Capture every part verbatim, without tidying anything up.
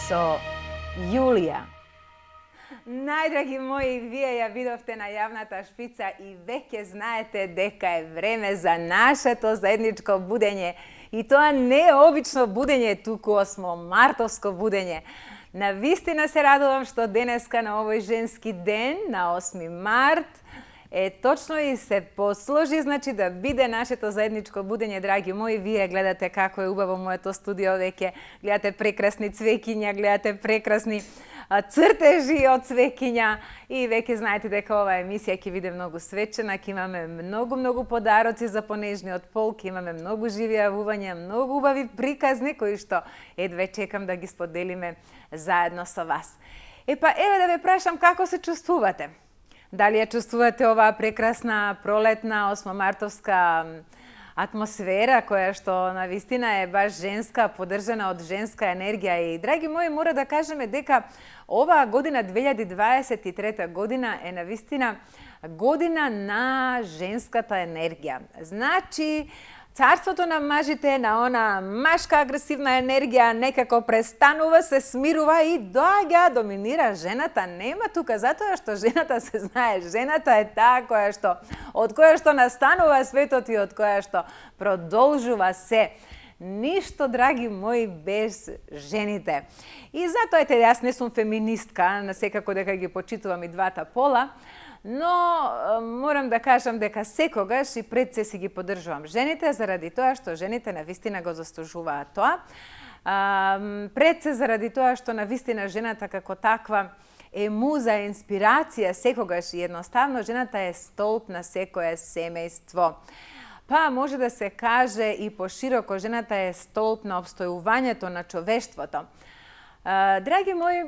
со Јулија. Најдраги мои, вие ја видовте на јавната шпица и веќе знаете дека е време за нашето заедничко будење. И тоа не е обично будење, туку осмомартовско будење. Навистина се радувам што денеска на овој женски ден, на осми март, е точно и се посложи, значи да биде нашето заедничко будење, драги мои. Вие гледате како е убаво моето студио веќе, гледате прекрасни цвеќиња, гледате прекрасни цртежи од цвеќиња и веќе знаете дека оваа емисија ќе биде многу свечена, ќе имаме многу, многу подароци за понежниот пол, ќе имаме многу живи јавувања, многу убави приказни кои што едве чекам да ги споделиме заедно со вас. Епа, еве да ве прашам како се чувствувате? Дали ја чувствувате оваа прекрасна пролетна осмомартовска атмосфера која што навистина е баш женска, поддржана од женска енергија. И драги мои, мора да кажеме дека оваа година две илјади дваесет и трета година е навистина година на женската енергија. Значи, царството на мажите, на она машка агресивна енергија некако престанува, се смирува и доаѓа, доминира жената. Нема тука, затоа што жената се знае, жената е таа која што од која што настанува светот и од која што продолжува се. Ништо, драги мои, без жените. И затоа ете, јас не сум феминистка, секако дека ги почитувам и двата пола, но морам да кажам дека секогаш и пред се си ги поддржувам жените, заради тоа што жените навистина го заслужуваат тоа. А, пред се заради тоа што навистина жената како таква е муза, инспирација, секогаш и едноставно жената е столб на секое семејство. Па може да се каже и пошироко, жената е столб на обстојувањето на човештвото. А, драги мои,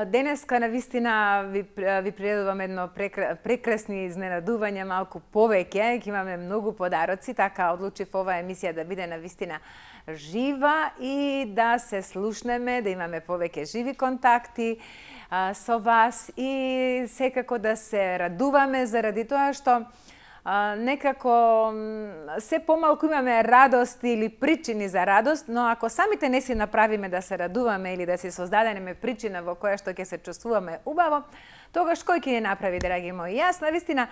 денеска навистина ви, ви приредувам едно прекра, прекрасни изненадувања, малку повеќе, ќе имаме многу подароци, така одлучив оваа емисија да биде навистина жива и да се слушнеме, да имаме повеќе живи контакти а, со вас и секако да се радуваме заради тоа што А, некако се помалку имаме радост или причини за радост, но ако самите не си направиме да се радуваме или да си создадеме причина во која што ќе се чувствуваме убаво, тогаш кој ќе ни направи, драги мои? Јас навистина,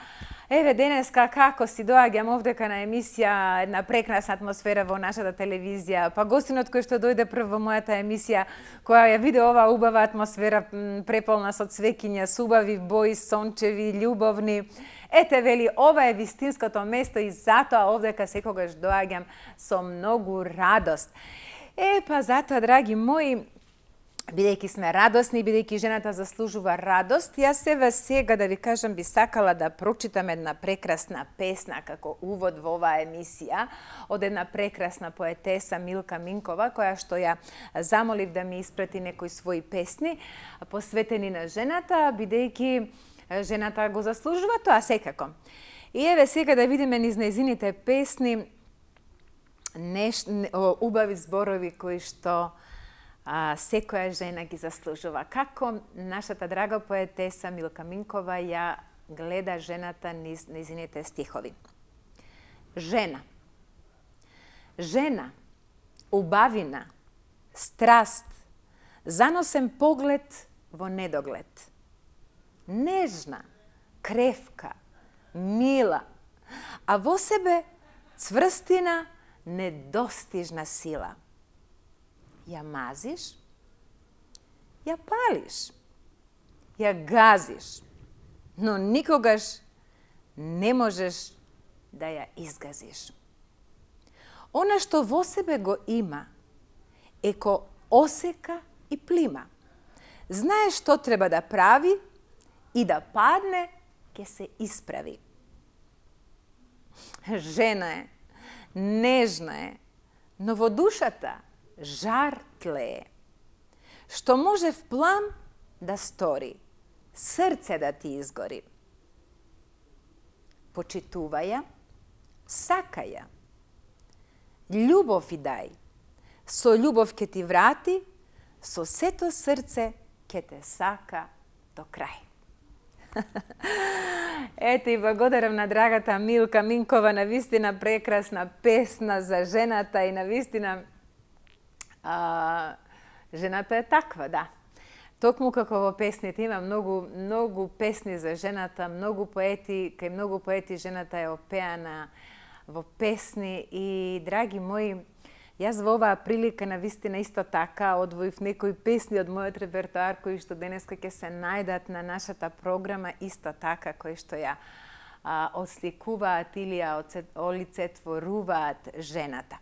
еве денеска како си доаѓам овдека на емисија, една прекрасна атмосфера во нашата телевизија, па гостинот кој што дојде прв во мојата емисија, која ја виде оваа убава атмосфера преполна со цвеќиња, со убави бои, сончеви, љубовни. Ете, вели, ова е вистинското место и затоа овдека секогаш доаѓам со многу радост. Е, па затоа, драги мои, бидејќи сме радосни, бидејќи жената заслужува радост, јас еве сега да ви кажам би сакала да прочитам една прекрасна песна како увод во оваа емисија од една прекрасна поетеса Милка Минкова, која што ја замолив да ми испрати некои своји песни посветени на жената, бидејќи жената го заслужува тоа секако. И еве сега да видиме низ нејзините песни неш, убави зборови кои што а, секоја жена ги заслужува. Како нашата драга поетеса Милка Минкова ја гледа жената низ нејзините стихови. Жена. Жена, убавина, страст, заносен поглед во недоглед. Нежна, кревка, мила, а во себе цврстина, недостижна сила. Ја мазиш, ја палиш, ја газиш, но никогаш не можеш да ја изгазиш. Она што во себе го има, е ко осека и плима. Знае што треба да прави, и да падне, ќе се исправи. Жена е, нежна е, но во душата жар тлее. Што може в плам да стори, срце да ти изгори. Почитувај ја, сакај ја. Љубов и дај, со љубов ќе ти врати, со сето срце ќе те сака до крај. Ете и благодарам на драгата Милка Минкова, навистина прекрасна песна за жената и навистина а, Жената е таква, да. Токму како во песните има многу многу песни за жената, многу поети, кај многу поети жената е опеана во песни и драги мои, јас во оваа прилика навистина исто така одвоив некои песни од мојот репертоар кои што денеска ќе се најдат на нашата програма, исто така кои што ја а, осликуваат или ја олицетворуваат жената.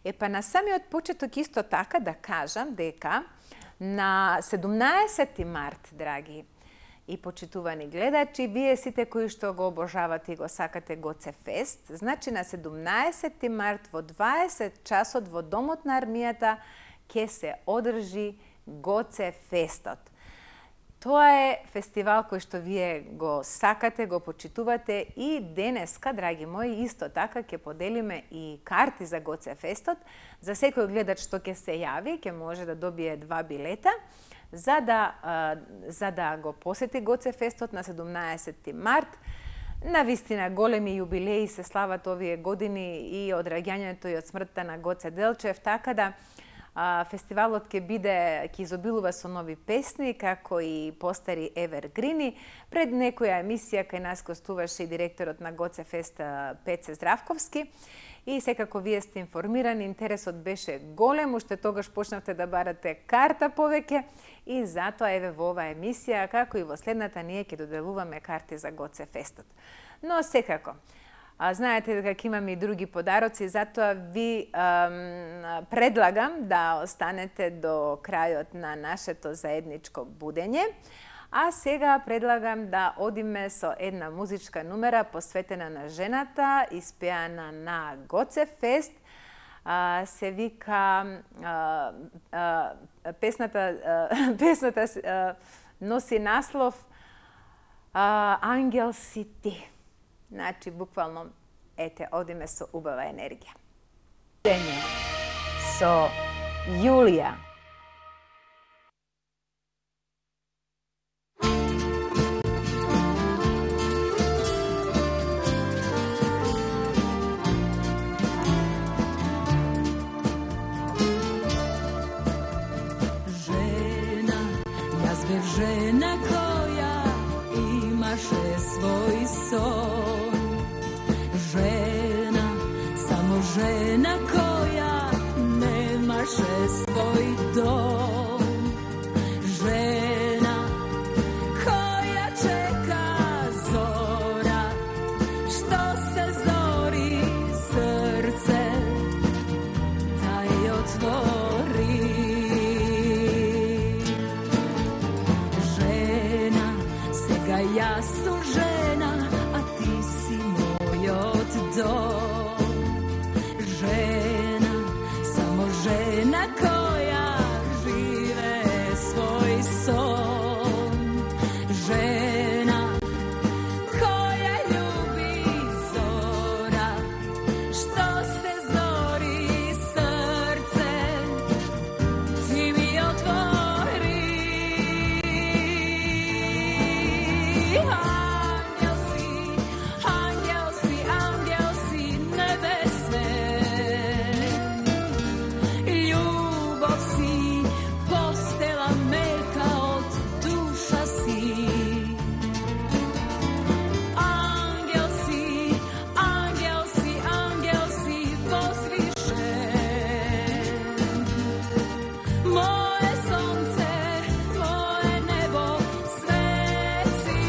Е па на самиот почеток исто така да кажам дека на седумнаесети март, драги и почитувани гледачи, вие сите кои што го обожавате и го сакате Гоце Фест, значи на седумнаесети март во дваесет часот во Домот на армијата ќе се одржи Гоце Фестот. Тоа е фестивал кој што вие го сакате, го почитувате и денеска, драги мои, исто така ќе поделиме и карти за Гоце Фестот. За секој гледач што ќе се јави, ќе може да добие два билета за да, за да го посети Гоце Фестот на седумнаесети март. Навистина големи јубилеи се слават овие години и од раѓањето и од смртта на Гоце Делчев, така да фестивалот ќе биде, ќе изобилува со нови песни, како и постари евергрини. Пред некоја емисија кај нас гостуваше и директорот на Гоце Фест Пеце Здравковски. И секако вие сте информирани, интересот беше голем, уште тогаш почнавте да барате карта повеќе и затоа еве во оваа емисија, како и во следната, ние ќе доделуваме карти за Гоце Фестот. Но секако, а, знаете дека ќе имаме и други подароци, затоа ви ам, предлагам да останете до крајот на нашето заедничко будење. А сега предлагам да одиме со една музичка numera посветена на жената, испеана на Гоце Фест. А, се вика а, а, песната а, песната а, носи наслов а, Ангел си ти. Значи буквално ете одиме со убава енергија. Со Јулија. Žena koja imaše svoj son, žena, samo žena koja nemaše svoj dom, žena koja čeka zora, što se zori srce, taj otvori. Ja su žena, a ti si moj oddom. Žena, samo žena koja žive svoj son. Žena koja ljubi zora, što se zori srce, ti mi otvori. Moje sonce, moje nebo, sveci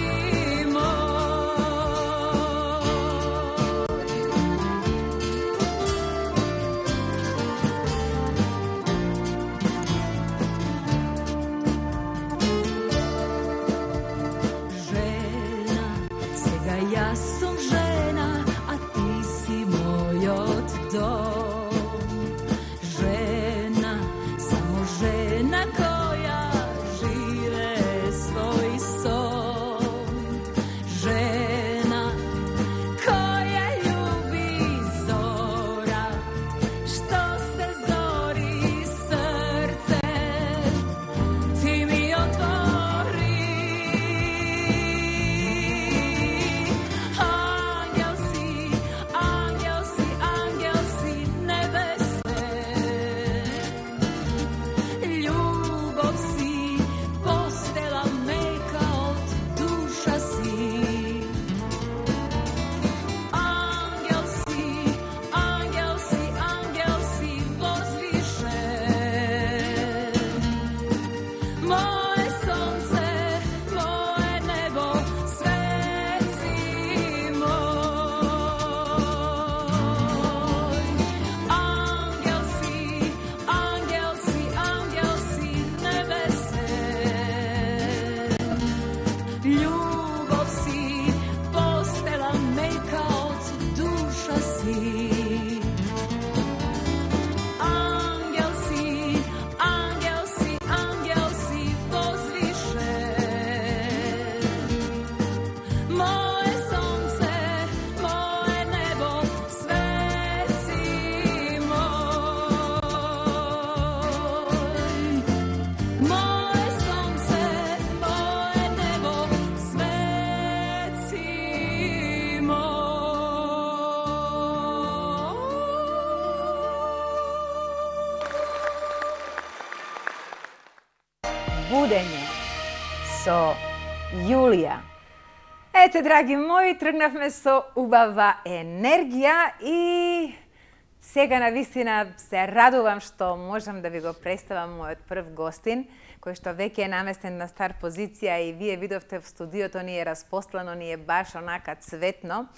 ljubov si, postela meka od duša si. Angel si, angel si, angel si pozvišen. Moje sonce, moje nebo, svet si moj. Moje sonce, moje nebo, svet si moj. Будење со Јулија. Ете, драги мои, тргнавме со убава енергија и сега навистина се радувам што можам да ви го представам мојот прв гостин, кој што веќе е наместен на стар позиција и вие видовте в студиото ни е распослано, ни е баш онака цветно.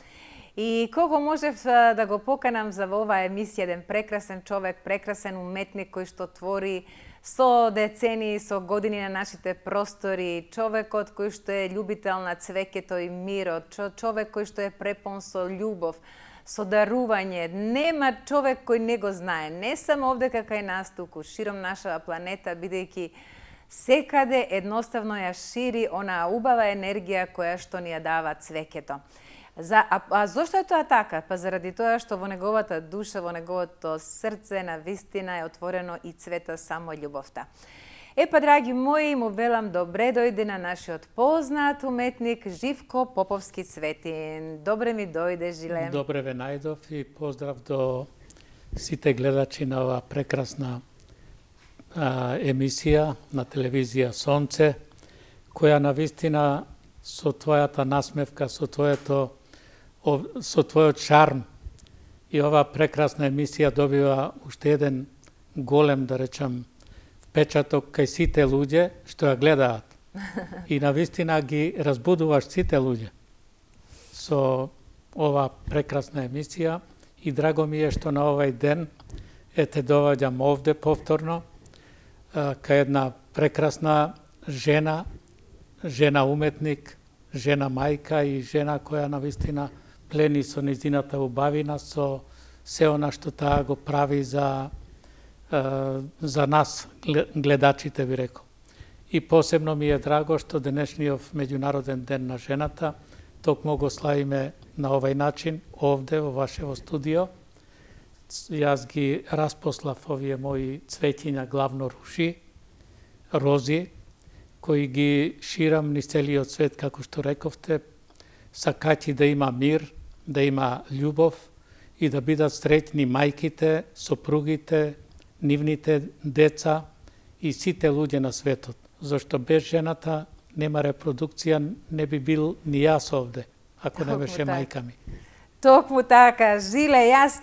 И кого можев а, да го поканам за во оваа емисија, еден прекрасен човек, прекрасен уметник кој што твори со децении, со години на нашите простори, човекот кој што е љубител на цвеќето и мирот, човек кој што е препон со љубов, со дарување. Нема човек кој не го знае, не само овде кај нас, туку широм нашава планета, бидејќи секаде едноставно ја шири онаа убава енергија која што ни ја дава цвеќето. За, а, а зошто е тоа така? Па заради тоа што во неговата душа, во неговото срце, на вистина е отворено и цвета само љубовта. Е па, драги мои, му велам добре дојде на нашиот познат уметник Живко Поповски-Цветин. Добре ми дојде, Жиле. Добре ве најдов и поздрав до сите гледачи на оваа прекрасна а, емисија на телевизија Сонце, која на вистина со твојата насмевка, со твоето со твојот шарм и оваа прекрасна емисија добива уште еден голем, да речам, впечаток кај сите луѓе што ја гледаат. И навистина ги разбудуваш сите луѓе со оваа прекрасна емисија и драго ми е што на овај ден ете доваѓам овде повторно кај една прекрасна жена, жена уметник, жена мајка и жена која навистина плени со низината убавина, со се она што таа го прави за, за нас, гледачите, би рекол. И посебно ми е драго што денешниот меѓународен ден на жената токму го славиме на овај начин, овде во вашево студио. Јас ги распослав овие мои цветиња, главно ружи, рози, кои ги ширам низ целиот свет, како што рековте, сакајќи да има мир, да има љубов и да бидат среќни мајките, сопругите, нивните деца и сите луѓе на светот. Зашто без жената нема репродукција, не би бил ни јас овде, ако не беше мајка ми. Токму така, Жиле, јас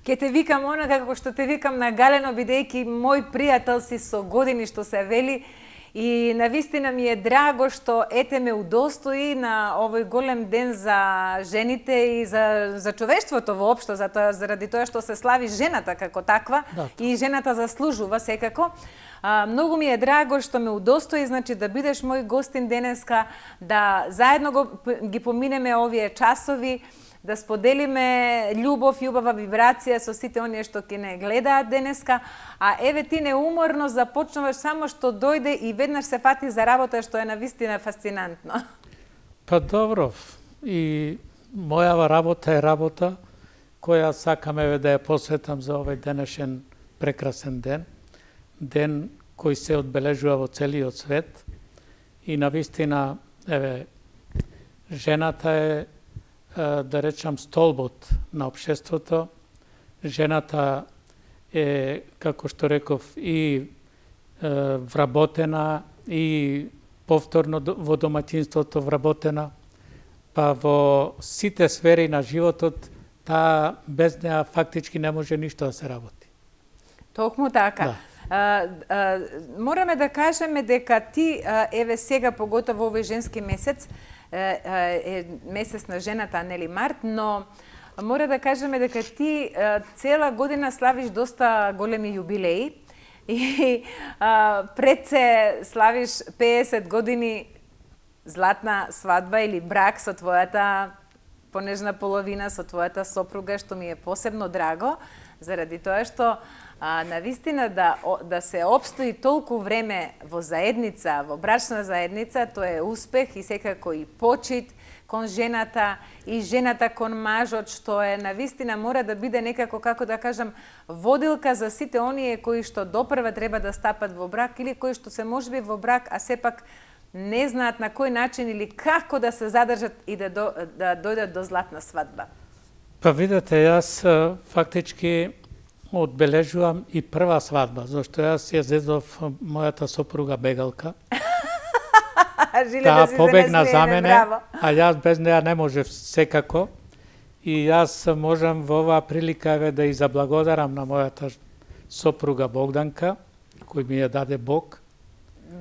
ќе те викам онака како што те викам на галено, бидејќи мој пријател си со години, што се вели. И навистина ми е драго што ете ме удостои на овој голем ден за жените и за, за човештвото воопшто, за тоа, заради тоа што се слави жената како таква, да, и жената заслужува секако. А, многу ми е драго што ме удостои, значи да бидеш мој гостин денеска, да заедно го, ги поминеме овие часови, да споделиме љубов и убава вибрација со сите оние што ќе не гледаат денеска, а еве ти неуморно започнуваш само што дојде и веднаш се фати за работа, што е навистина фасцинантно. Па добро, и мојава работа е работа која сакам еве да ја посветам за овој денешен прекрасен ден, ден кој се одбележува во целиот свет и навистина еве жената е, да речам, столбот на општеството. Жената е, како што реков, и е, вработена, и повторно во домаќинството вработена, па во сите сфери на животот, таа без неа фактички не може ништо да се работи. Токму така. Да. А, а, мораме да кажеме дека ти, еве сега, поготово овој женски месец, е месец на жената, нели март, но мора да кажеме дека ти цела година славиш доста големи јубилеи и а, пред се славиш пеесет години златна свадба или брак со твојата понежна половина, со твојата сопруга, што ми е посебно драго, заради тоа што а, навистина да, да се обстои толку време во заедница, во брачна заедница, тоа е успех и секако и почит кон жената и жената кон мажот, што е навистина мора да биде некако, како да кажам, водилка за сите оние кои што допрва треба да стапат во брак или кои што се можеби во брак, а сепак не знаат на кој начин или како да се задржат и да, до, да дојдат до златна свадба. Па видете, јас фактички одбележувам и прва свадба, зашто јас ја зедов мојата сопруга бегалка. Таа да побегна за мене, браво. А јас без неја не можев секако. И јас можам во оваа прилика еве да и заблагодарам на мојата сопруга Богданка, кој ми ја даде Бог.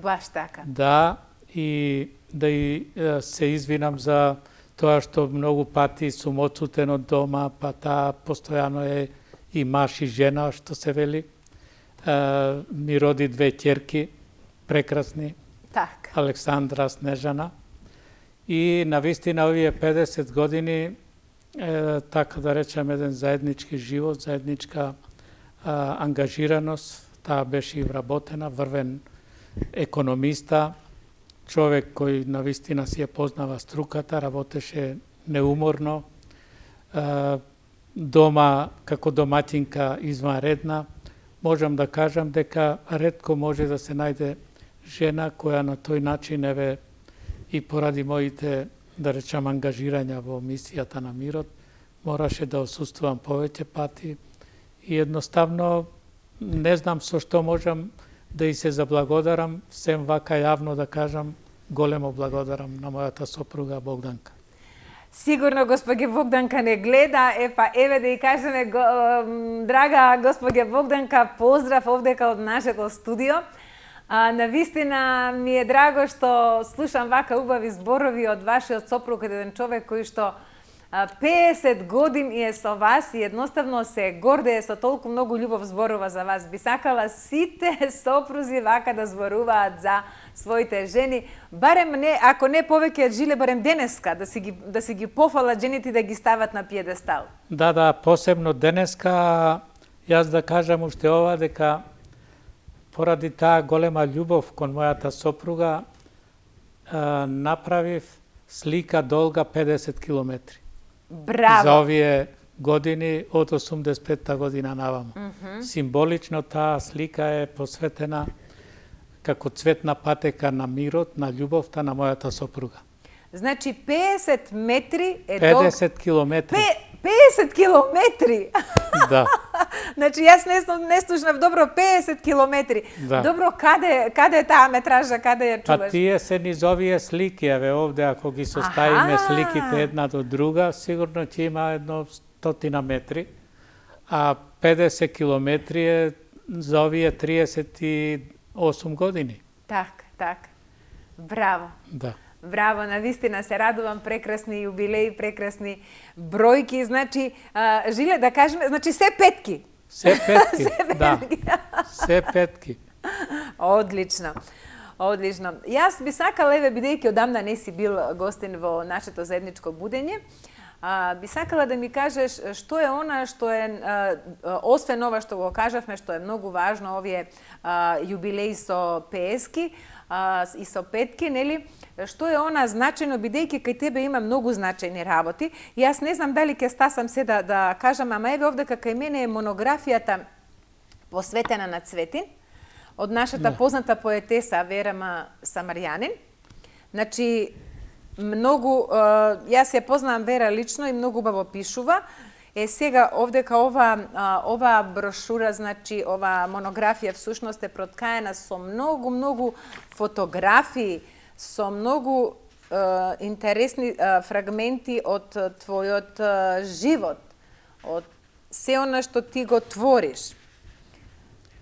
Баш така. Да, и да и се извинам за тоа што многу пати сум отсутен од дома, па таа постојано е и маж и жена, што се вели. Е, ми роди две ќерки, прекрасни, так. Александра, Снежана. И навистина овие педесет години, е, така да речем, еден заеднички живот, заедничка а, ангажираност, таа беше и вработена, врвен економиста, човек кој навистина си ја познава струката, работеше неуморно, дома како домаќинка изванредна. Можам да кажам дека ретко може да се најде жена која на тој начин, еве, и поради моите, да речам, ангажирања во мисијата на мирот, мораше да осуствувам повеќе пати и едноставно не знам со што можам да и се заблагодарам, сем вака јавно да кажам, големо благодарам на мојата сопруга Богданка. Сигурно госпоѓа Богданка не гледа, е па еве да и кажеме, го, драга госпоѓа Богданка, поздрав овдека од нашето студио. А, навистина ми е драго што слушам вака убави зборови од вашиот сопруг, еден човек кој што педесет години е со вас и едноставно се гордее со толку многу љубов зборува за вас. Би сакала сите сопрузи вака да зборуваат за своите жени, барем не, ако не повеќе од жиле, барем денеска, да си ги, да си ги пофалат жените и да ги стават на пиедестал. Да, да, посебно денеска, јас да кажам уште ова, дека поради таа голема љубов кон мојата сопруга, направив слика долга педесет километри. Браво! За овие години од осумдесет и петта година наваму. Mm -hmm. Символично таа слика е посветена како цветна патека на мирот, на љубовта на мојата сопруга. Значи педесет метри е педесет километри. педесет километри. Да. Значи јас не, не слушнав добро, педесет километри. Да. Добро, каде каде е таа метража, каде ја чуваш? Па тие се низ овие слики, еве овде ако ги составиме сликите една до друга, сигурно ќе има едно стотина метри, а педесет километри е за овие триесет и осум години. Так, так. Браво. Да. Браво, навистина се радувам, прекрасни јубилеи, прекрасни бројки, значи, а, жиле да кажеме, значи се петки. Се петки, да. Се петки. Одлично. Одлично. Јас би сакала, еве, бидејќи одамна не си бил гостин во нашето заедничко будење, а, би сакала да ми кажеш што е она што е, а, освен ова што го кажавме, што е многу важно, овие а, јубилеи со пески а, и со петки, нели? Што е она значајно, бидејќи кај тебе има многу значајни работи. И јас не знам дали ќе стасам се да, да кажам, ама еве овде кај мене е монографијата посветена на Цветин, од нашата да. позната поетеса Вера Самарјанин. Значи, многу, јас ја познавам Вера лично и многу убаво пишува. Е сега овдека ова ова брошура, значи ова монографија всушност е проткаена со многу многу фотографии, со многу е, интересни е, фрагменти од твојот е, живот, од се она што ти го твориш.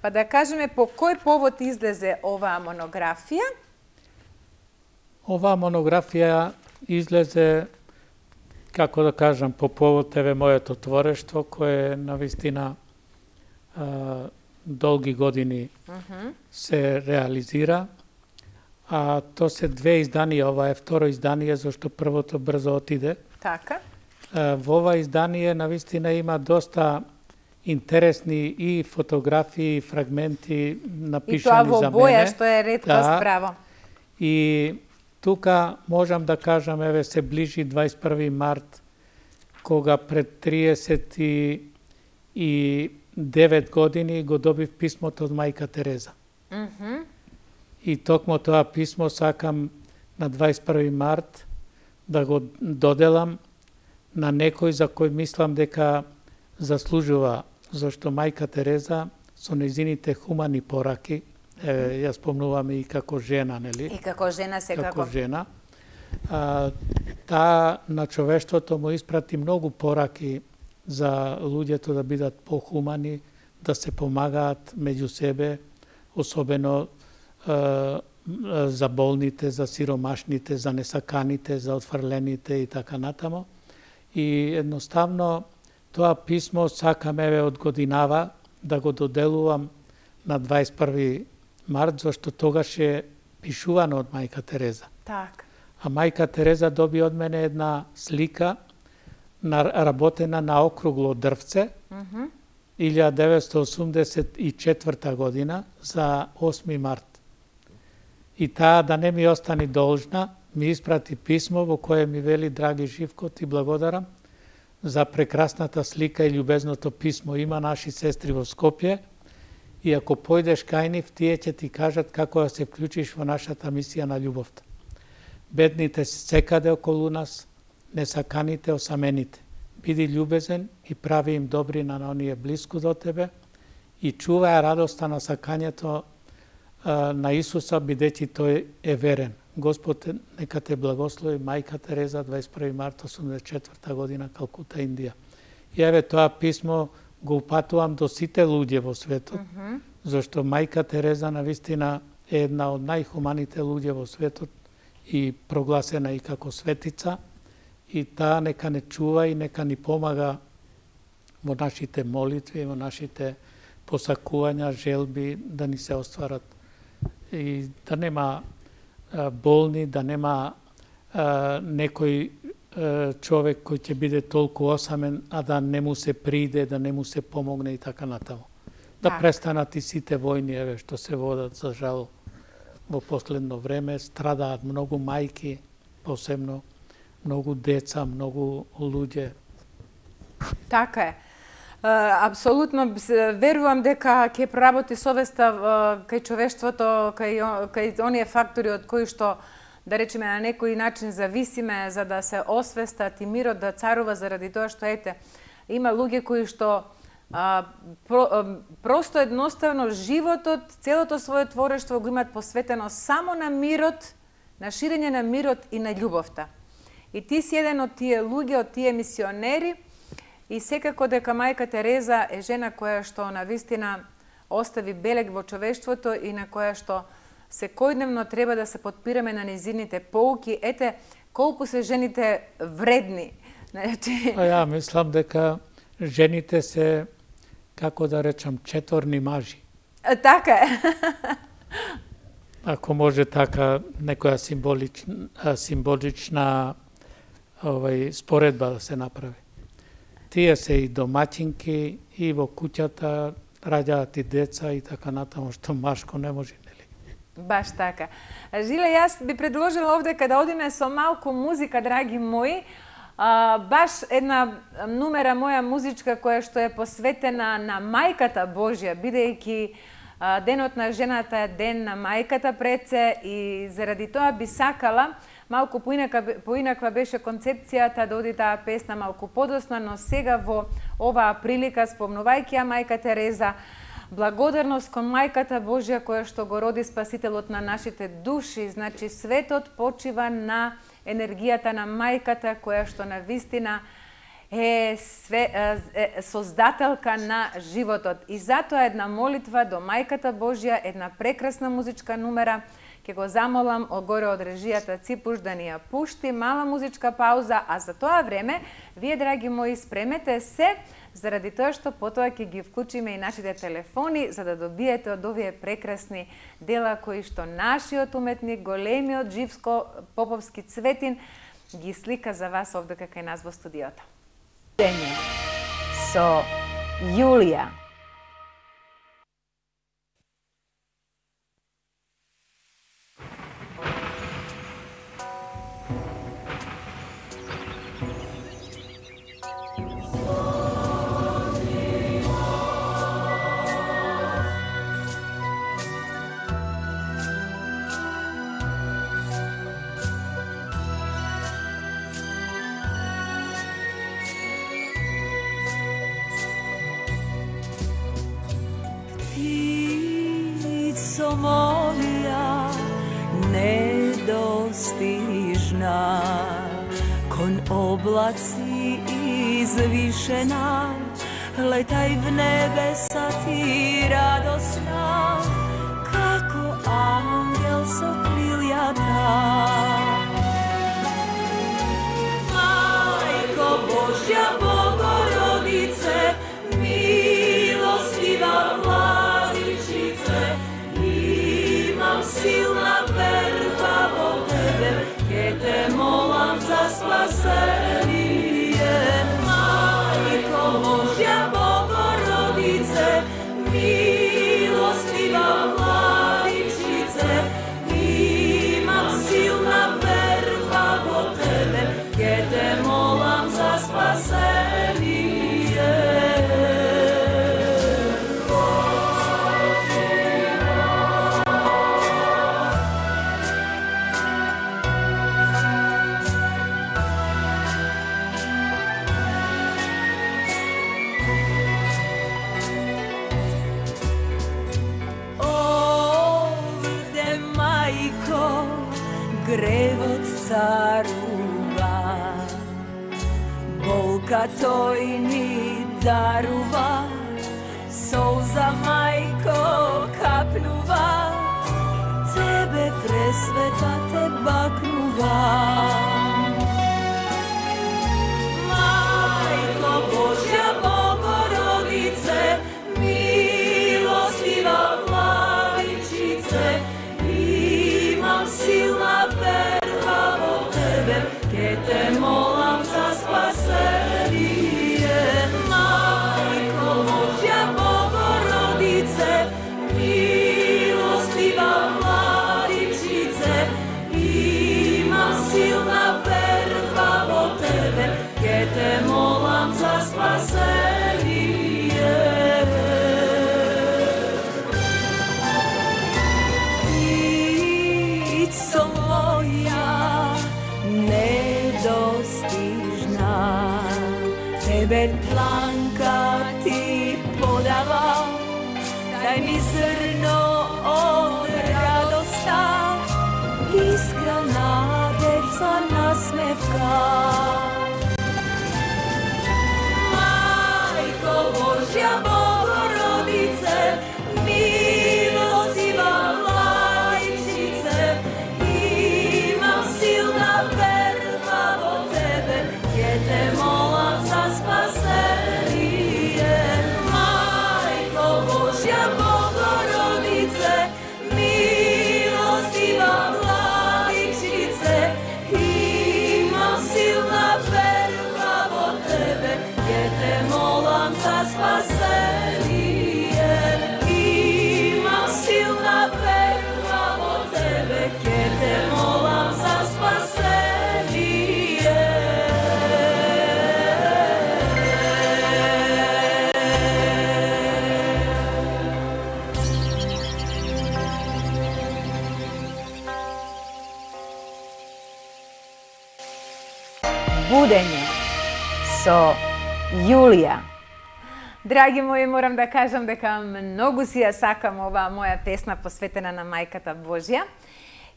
Па да кажеме по кој повод излезе оваа монографија? Оваа монографија излезе, како да кажам, по повод еве моето творештво, кое навистина а, долги години uh -huh. се реализира. А то се две изданија, ова е второ издание, зашто првото брзо отиде. Така. А, во ова издание навистина има доста интересни и фотографии, и фрагменти напишани за мене. И тоа во боја, што е реткост, Да. браво. И тука можам да кажам, еве се ближи дваесет и први март, кога пред триесет и девет години го добив писмото од мајка Тереза. Мгм. И токму тоа писмо сакам на дваесет и први март да го доделам на некој за кој мислам дека заслужува, зашто мајка Тереза со нејзините хумани пораки, е, ја спомнувам и како жена, нели? И како жена секако. Како жена. А, таа на човештвото му испрати многу пораки за луѓето да бидат похумани, да се помагаат меѓу себе, особено а, за болните, за сиромашните, за несаканите, за отфрлените и така натамо. И едноставно тоа писмо сакам еве од годинава да го доделувам на дваесет и први март, зашто тогаш е пишувано од мајка Тереза. Так. А мајка Тереза доби од мене една слика на работена на округло дрвце, Мгм. илјада деветстотини осумдесет и четврта година за осми март. И таа да не ми остани должна, ми испрати писмо во кое ми вели: драги Живко, ти благодарам за прекрасната слика и љубезното писмо. Има наши сестри во Скопје и ако појдеш кај нив, тие ќе ти кажат како да се вклучиш во нашата мисија на љубовта. Бедните се секаде околу нас, несаканите, осамените. Биди љубезен и прави им добрина на оние блиску до тебе и чувај радоста на сакањето а, на Исуса, бидејќи тој е верен. Господ нека те благослови, мајка Тереза, дваесет и први март осумдесет и четврта година, Калкута, Индија. И еве тоа писмо го упатувам до сите луѓе во светот, Мгм. зашто мајка Тереза навистина е една од најхуманите луѓе во светот и прогласена и како светица, и таа нека не чува и нека ни помага во нашите молитви, во нашите посакувања, желби да ни се остварат и да нема а, болни, да нема а, некој а, човек кој ќе биде толку осамен, а да не му се приде, да не му се помогне и така натаму. Да Так. престанат и сите војни, еве, што се водат, за жал, во последно време. Страдаат многу мајки, посебно многу деца, многу луѓе. Така е. А, апсолутно с- верувам дека ќе проработи совеста а, кај човештвото, кај, о- кај оние фактори од кои што, да речеме, на некој начин зависиме, за да се освестат и мирот да царува, заради тоа што, ете, има луѓе кои што а, про, а, просто едноставно животот, целото свое творештво го имат посветено само на мирот, на ширење на мирот и на љубовта. И ти си еден од тие луѓе, од тие мисионери, и секако дека мајка Тереза е жена која што навистина остави белег во човештвото и на која што секојдневно треба да се подпираме на незините поуки. Ете, колку се жените вредни. Значи, А ја мислам дека жените се, како да речам, четворни мажи. така е. Ако може така некоја символична, символична овај, споредба да се направи. Тие се и домаќинки, и во куќата раѓаат и деца и така натаму, што машко не може, нели? Баш така. Жиле, јас би предложила овде када одиме со малку музика, драги мои, а, баш една нумера моја музичка која што е посветена на мајката Божја, бидејќи а, денот на жената е ден на мајката преце, и заради тоа би сакала, малку поинака, поинаква беше концепцијата да оди таа песна малку подоцна, но сега во оваа прилика, спомнувајќи ја мајка Тереза, благодарност кон мајката Божја која што го роди Спасителот на нашите души. Значи светот почива на енергијата на мајката која што навистина е, све, е создателка на животот. И затоа една молитва до мајката Божја, една прекрасна музичка нумера, Ке го замолам огоре од режијата Ципуш да ни ја пушти мала музичка пауза, а за тоа време, вие, драги мои, спремете се, заради тоа што потоа ќе ги вклучиме и нашите телефони, за да добиете од овие прекрасни дела кои што нашиот уметник, големиот Живско Поповски Цветин, ги слика за вас овде кај нас во студиото. Дење со Јулија. Ptico moja nedostižna, kon oblaci izvišena, letaj v nebesa ti radosna, kako angel sa kriljata. Majko Božja, Bogorodice, milostiva Vladičice, imam silna verba vo tebe, ke te molam za spasenije. Majko Božja, Bogorodice, milostiva Vladičice, imam silna verba vo tebe, ke te molam za spasenije. Grevot caruva, bolka tojni daruva, solza majko kapnuva, tebe presveta te baknuva. Majko Božja, Bogorodice, milostiva Vladičice, imam silna verba vo tebe, ke te molam za spasenije. Majko Božja, Bogorodice, milostiva Vladičice, imam silna verba vo tebe, ke te molam za spasenije. Ptico moja nedostižna, tebe dlanka ti podava, daj mi zrno od radosta, iskra nadežna nasmevka. Majko Božja, Bogorodice, milostiva Vladičice, imam silna verba vo tebe, ke te molam za spasenije. Majko Božja, Bogorodice, milostiva Vladičice, imam silna verba vo tebe, ke te molam za spasenije. Imam silna verba vo tebe, ke te molam za spasenije. Будење со Јулија. Драги мои, морам да кажам дека многу си ја сакам оваа моја песна посветена на Мајката Божја.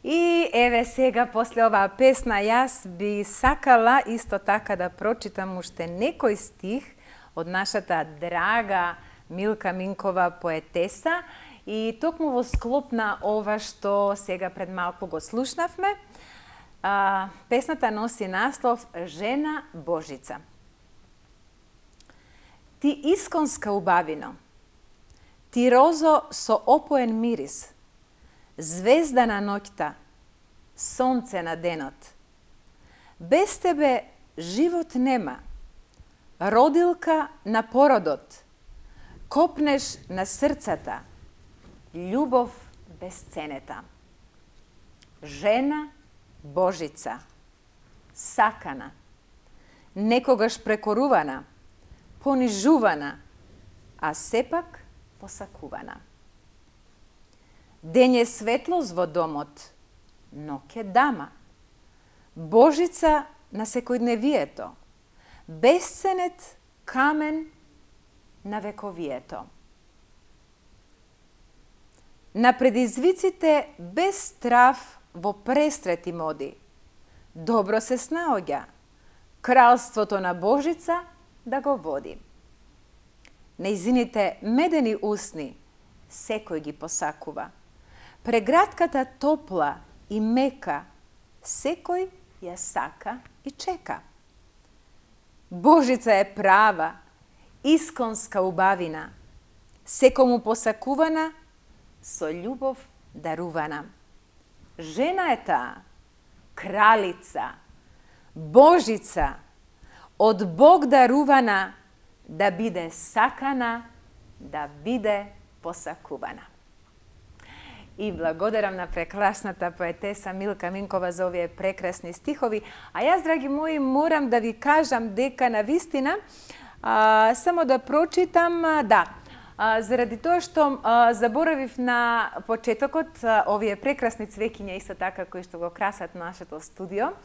И еве сега, после оваа песна, јас би сакала исто така да прочитам уште некој стих од нашата драга Милка Минкова поетеса И токму во склоп на ова што сега пред малку го слушнавме, а, песната носи наслов Жена Божица. Ти исконска убавино, ти розо со опоен мирис, звезда на ноќта, сонце на денот. Без тебе живот нема, родилка на породот, копнеш на срцата, љубов безценета. Жена Божица, сакана, некогаш прекорувана, понижувана, а сепак посакувана. Дење светлост во домот, ноќе дама. Божица на секојдневието, безценет камен на вековието. На предизвиците без страв во престрети моди, добро се снаоѓа, кралството на Божица да го води. Нејзините медени усни секој ги посакува. Прегратката топла и мека секој ја сака и чека. Божица е права, исконска убавина, секому посакувана, со љубов дарувана. Жена е таа, кралица, Божица, од Бог дарувана, да биде сакана, да биде посакувана. И благодарам на прекрасната поетеса Милка Минкова за овие прекрасни стихови. А јас, драги мои, морам да ви кажам дека на вистина, а, само да прочитам, а, да, а, заради тоа што а, заборавив на почетокот а, овие прекрасни цвеќиња исто така кои што го красат нашето студио.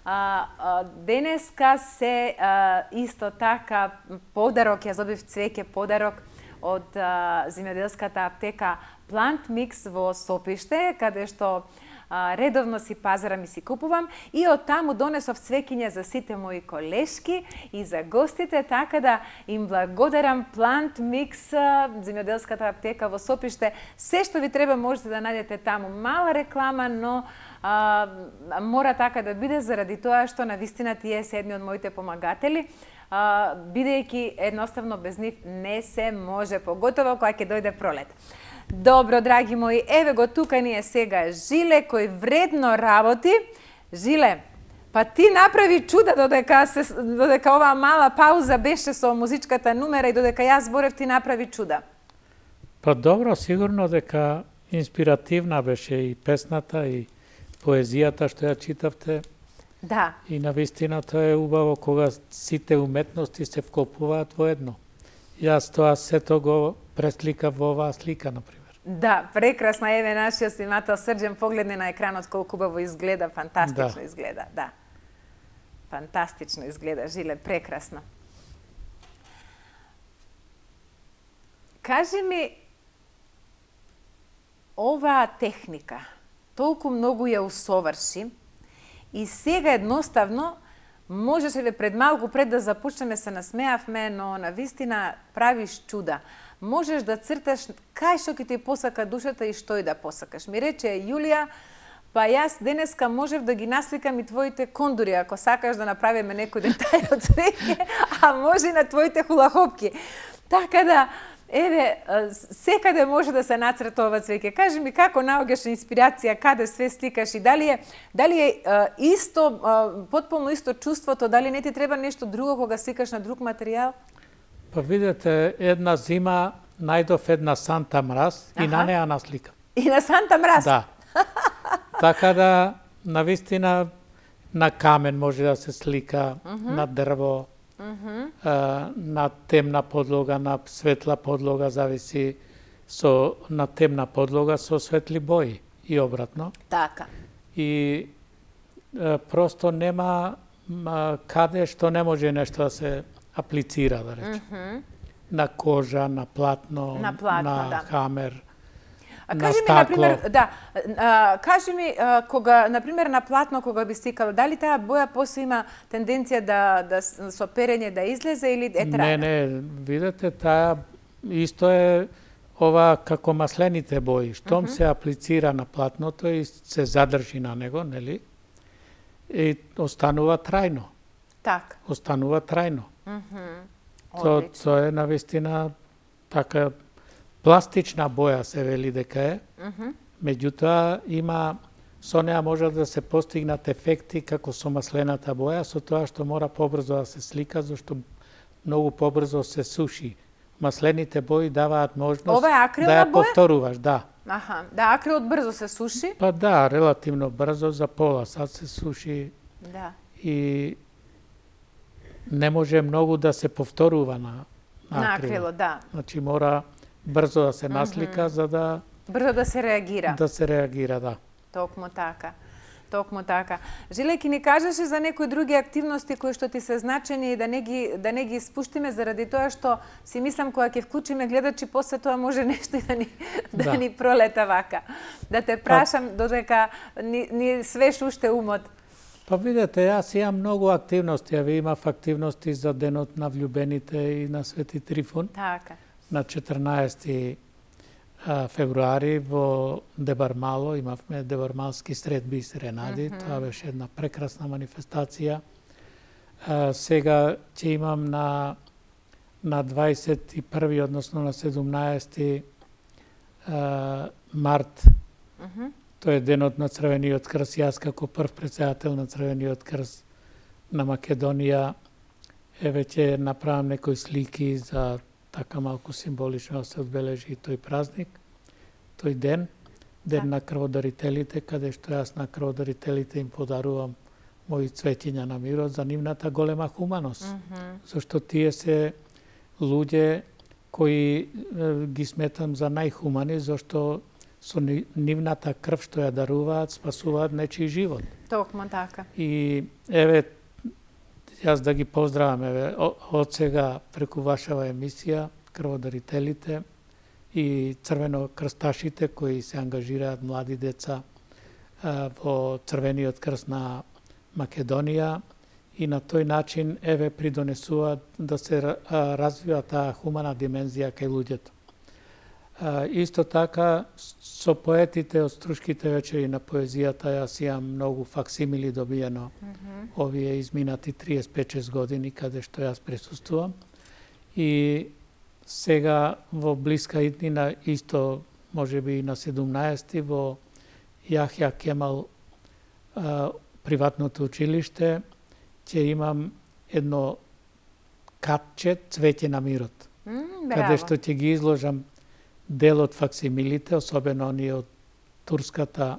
А, а, денеска се а, исто така подарок, јас добив цвеќе подарок од а, земјоделската аптека Plant Mix во Сопиште, каде што а, редовно си пазарам и си купувам, и од таму донесов цвеќиња за сите мои колешки и за гостите, така да им благодарам Plant Mix, земјоделската аптека во Сопиште. Се што ви треба можете да најдете таму. Мала реклама, но а, мора така да биде заради тоа што навистина тие се едни од моите помагатели. Uh, бидејќи едноставно без нив не се може, поготово кога ќе дојде пролет. Добро, драги мои, еве го тука ни е сега Жиле, кој вредно работи. Жиле, па ти направи чуда додека, се, додека оваа мала пауза беше со музичката нумера и додека јас зборев, ти направи чуда. Па добро, сигурно дека инспиративна беше и песната и поезијата што ја читавте. Да. И навистина тоа е убаво кога сите уметности се вклопуваат во едно. Јас тоа сето го пресликав во оваа слика, например. Да, прекрасно. Еве нашиот снимател Срđan погледне на екранот колку убаво изгледа, фантастично да. изгледа, да. Фантастично изгледа, Жиле, прекрасно. Кажи ми, оваа техника толку многу ја усоврши, и сега едноставно, можеше ли пред малку пред да започнеме се насмеавме, но на вистина правиш чуда. Можеш да црташ кај што ќе ти посака душата и што и да посакаш. Ми рече Јулија, па јас денеска можев да ги насликам и твоите кондури, ако сакаш да направиме некој детај од цвеќе, а може и на твоите хулахопки. Така да, еве, секаде може да се нацрта ова цвеќе. Кажи ми како наоѓаш инспирација, каде све сликаш и дали е, дали е а, исто, а, потполно исто чувството, дали не ти треба нешто друго кога сликаш на друг материјал? Па видете, една зима најдов една Санта Мраз и на неа насликам. И на Санта Мраз? Да. Така да, навистина, на камен може да се слика, uh -huh. на дрво, uh -huh. а, на темна подлога, на светла подлога, зависи со на темна подлога со светли бои и обратно. Така. И а, просто нема а, каде што не може нешто да се аплицира, да речем. Uh -huh. На кожа, на платно, на, платно, на да. хамер. А кажи ми, например, да, а, кажи ми, а, кога, например, на платно, кога би стикало, дали таа боја после има тенденција да, да со перење да излезе или е трајна? Не, не, видете, таа исто е ова како маслените бои, штом се аплицира на платното и се задржи на него, нели? И останува трајно. Така. Останува трајно. Мгм. То, Одлично. то е навистина така пластична боја се вели дека е. Мгм. Меѓутоа има со неа може да се постигнат ефекти како со маслената боја, со тоа што мора побрзо да се слика, зашто многу побрзо се суши. Маслените бои даваат можност Ова е акрилна да ја боја? повторуваш, да. Аха, да, акрилот брзо се суши. Па да, релативно брзо, за пола сат се суши Да. и не може многу да се повторува на, на На акрилот. акрилот, да. Значи мора брзо да се наслика за да Брзо да се реагира. да се реагира, да. Токму така. Токму така. Жиле, ки ни кажеше за некои други активности кои што ти се значени и да не ги да не ги испуштиме заради тоа што си мислам кога ќе вклучиме гледачи после тоа може нешто и да ни да, Да. ни пролета вака. Да те прашам додека ни, ни свеш уште умот. Па видете, јас имам многу активности, а ви имав активности за денот на влюбените и на Свети Трифун. Така. На четрнаесети февруари во Дебармало имавме дебармалски средби и серенади. Mm -hmm. Тоа беше една прекрасна манифестација. А, сега ќе имам на на дваесет и први, односно на седумнаесети а, март. Mm -hmm. Тој е денот на Црвениот крст. Јас како прв председател на Црвениот крст на Македонија еве ќе направам некои слики за така малку символично да се одбележи тој празник, тој ден, ден да. на крводарителите, каде што јас на крводарителите им подарувам мои цветиња на мирот за нивната голема хуманост. Mm -hmm. Зашто тие се луѓе кои е, ги сметам за најхумани, зашто со нивната крв што ја даруваат, спасуваат нечи живот. Токму така. И еве, јас да ги поздравам еве од сега преку вашава емисија, крводарителите и црвенокрсташите кои се ангажираат млади деца а, во Црвениот крст на Македонија и на тој начин еве придонесуваат да се а, развива таа хумана димензија кај луѓето. А, исто така со поетите од Струшките вечери на поезијата јас имам многу факсимили добиено mm -hmm. овие изминати триесет и пет шест години каде што јас присуствувам. И сега во блиска иднина исто можеби и на седумнаесети во Јахја Кемал а, приватното училиште ќе имам едно катче цвеќе на мирот. Mm, каде што ќе ги изложам дел од факсимилите, особено оние од турската,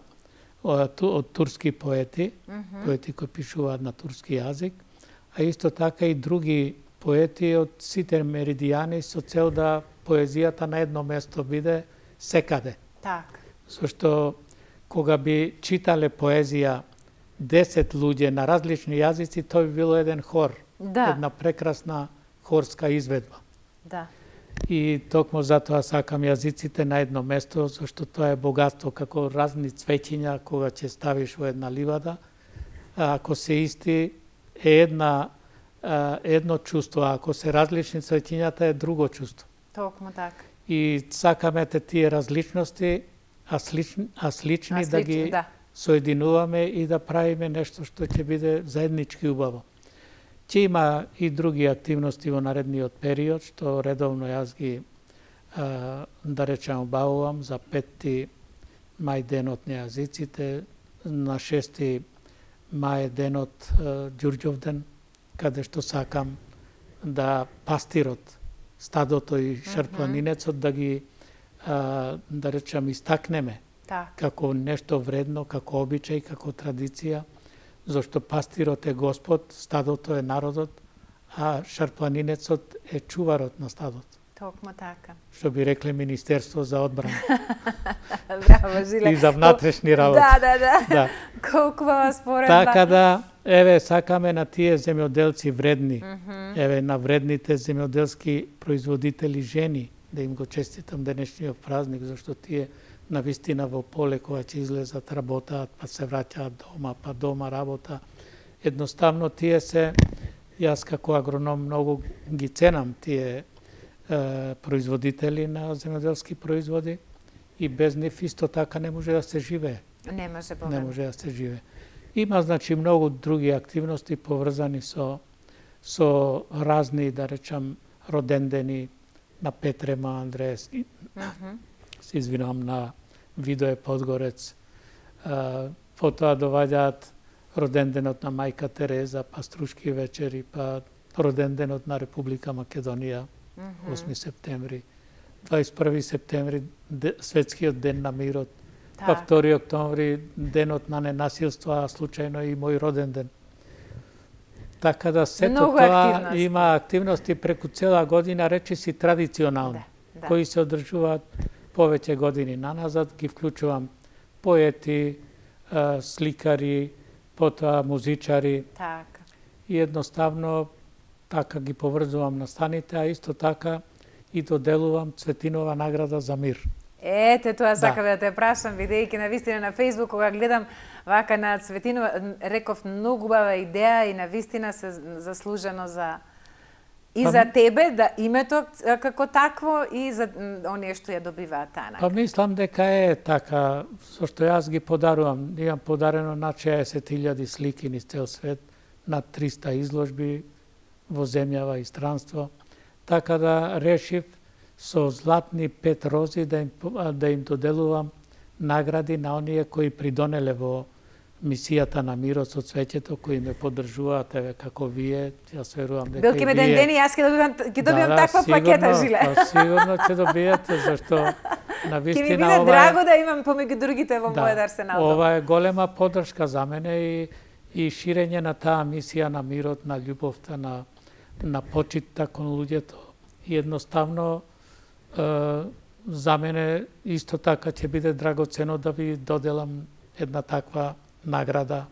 од, од турски поети, mm -hmm. поети кои пишуваат на турски јазик, а исто така и други поети од сите меридијани со цел да поезијата на едно место биде секаде. Так. Зашто кога би читале поезија десет луѓе на различни јазици, тој би било еден хор, да. една прекрасна хорска изведба. Да. И токму затоа сакам јазиците на едно место, зашто тоа е богатство, како разни цвеќиња кога ќе ставиш во една ливада. Ако се исти, е една, едно чувство, а ако се различни цвеќињата е друго чувство. Токму така. И сакаме те тие различности, а слични, а слични, а слични да ги да. соединуваме и да правиме нешто што ќе биде заеднички убаво. Ќе има и други активности во наредниот период, што редовно јас ги, а, да речам, обавувам за пети мај денот на јазиците, на шести мај денот Ѓурѓов ден, каде што сакам да пастирот, стадото и шарпланинецот да ги, а, да речам, истакнеме так. како нешто вредно, како обичај, како традиција, зашто пастирот е Господ, стадото е народот, а шарпланинецот е чуварот на стадот. Токму така. Што би рекле Министерство за одбрана. Браво, Жиле. И за внатрешни работи. Да, да, да. да. Колку ва споредба. Така да, еве, сакаме на тие земјоделци вредни, Mm -hmm. еве, на вредните земјоделски производители жени, да им го честитам денешниот празник, зашто тие навистина во поле кога ќе излезат, работаат, па се враќаат дома, па дома работа. Едноставно тие се, јас како агроном многу ги ценам тие е, производители на земјоделски производи и без нив исто така не може да се живее. Не може Не може да се живее. Има значи многу други активности поврзани со со разни, да речам, родендени на Петрема, Андреас, и, mm -hmm. се извинувам, на Видое Подгорец. А, потоа доваѓаат роденденот на Мајка Тереза, па Струшки вечери, па роденденот на Република Македонија, mm -hmm. осми септември, дваесет и први септември, де, светскиот ден на мирот, так. Па втори октомври, денот на ненасилство, а случајно и мој роден ден. Така да сето Много тоа активности. Има активности преку цела година, речиси традиционални, да, да. кои се одржуваат повеќе години наназад. Ги вклучувам поети, сликари, потоа музичари. Така. И едноставно така ги поврзувам настаните, а исто така и доделувам Цветинова награда за мир. Ете, тоа сакав да. да те прашам, видејќи на вистина на Facebook, кога гледам вака на Цветинова, реков многу убава идеја и на вистина се заслужено за и па, за тебе, да името како такво и за оние што ја добиваат таа награда. Па мислам дека е така, со што јас ги подарувам. Имам подарено над шеесет илјади слики низ цел свет, над триста изложби во земјава и странство. Така да решив со златни пет рози да им, да им доделувам награди на оние кои придонеле во мисијата на мирот со цвеќето, кои ме поддржуваат, еве како вие, јас верувам дека Билки ме ден ден и јас ќе добивам ќе добивам да, таква сигурно, пакета жиле. Да, сигурно ќе добиете, зашто на вистина ќе ми биде ова драго да имам помеѓу другите во да, мојот арсенал. Ова е голема поддршка за мене и и ширење на таа мисија на мирот, на љубовта, на на почитта кон луѓето. И едноставно за мене исто така ќе биде драгоцено да ви доделам една таква награда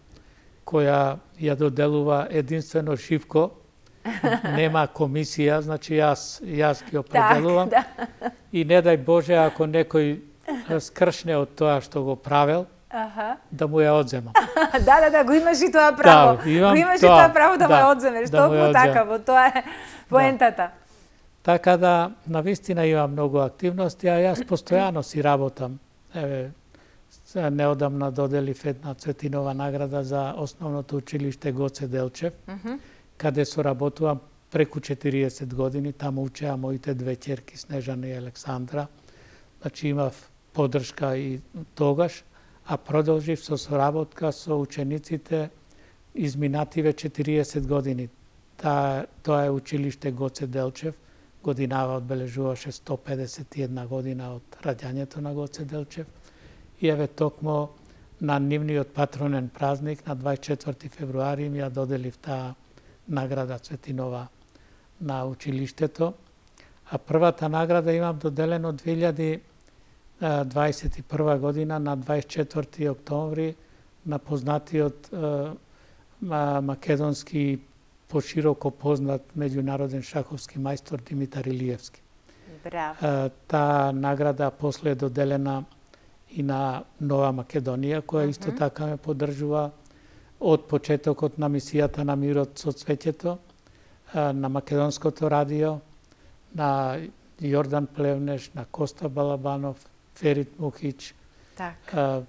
која ја доделува единствено Живко. Нема комисија, значи јас јас ги определувам. Так, да. И не дај Боже ако некој скршне од тоа што го правел, Аха. да му ја одземам. да, да, да, го имаш и тоа право. Да, имам го имаш тоа, и тоа право да, да, му ја одземеш. да му ја Толку одземам. такаво, тоа е поентата. Да. Така да, навистина има многу активности, а јас постојано си работам. Еве, неодамна доделив една Цветинова награда за основното училиште Гоце Делчев, mm -hmm. каде соработувам преку четириесет години. Таму учеа моите две ќерки Снежана и Александра. Значи имав поддршка и тогаш, а продолжив со соработка со учениците изминативе четириесет години. Та, тоа е училиште Гоце Делчев. Годинава одбележуваше сто педесет и една година од раѓањето на Гоце Делчев. И еве токмо на нивниот патронен празник на дваесет и четврти февруари ми ја доделив таа награда Цветинова на училиштето. А првата награда имам доделено две илјади дваесет и прва година на дваесет и четврти октомври на познатиот македонски пошироко познат меѓународен шаховски мајстор Димитар Илиевски. Браво. Таа награда после е доделена и на Нова Македонија, која mm -hmm. исто така ме поддржува од почетокот на мисијата на мирот со цвеќето, на Македонското радио, на Јордан Плевнеш, на Коста Балабанов, Ферит Мухич, так.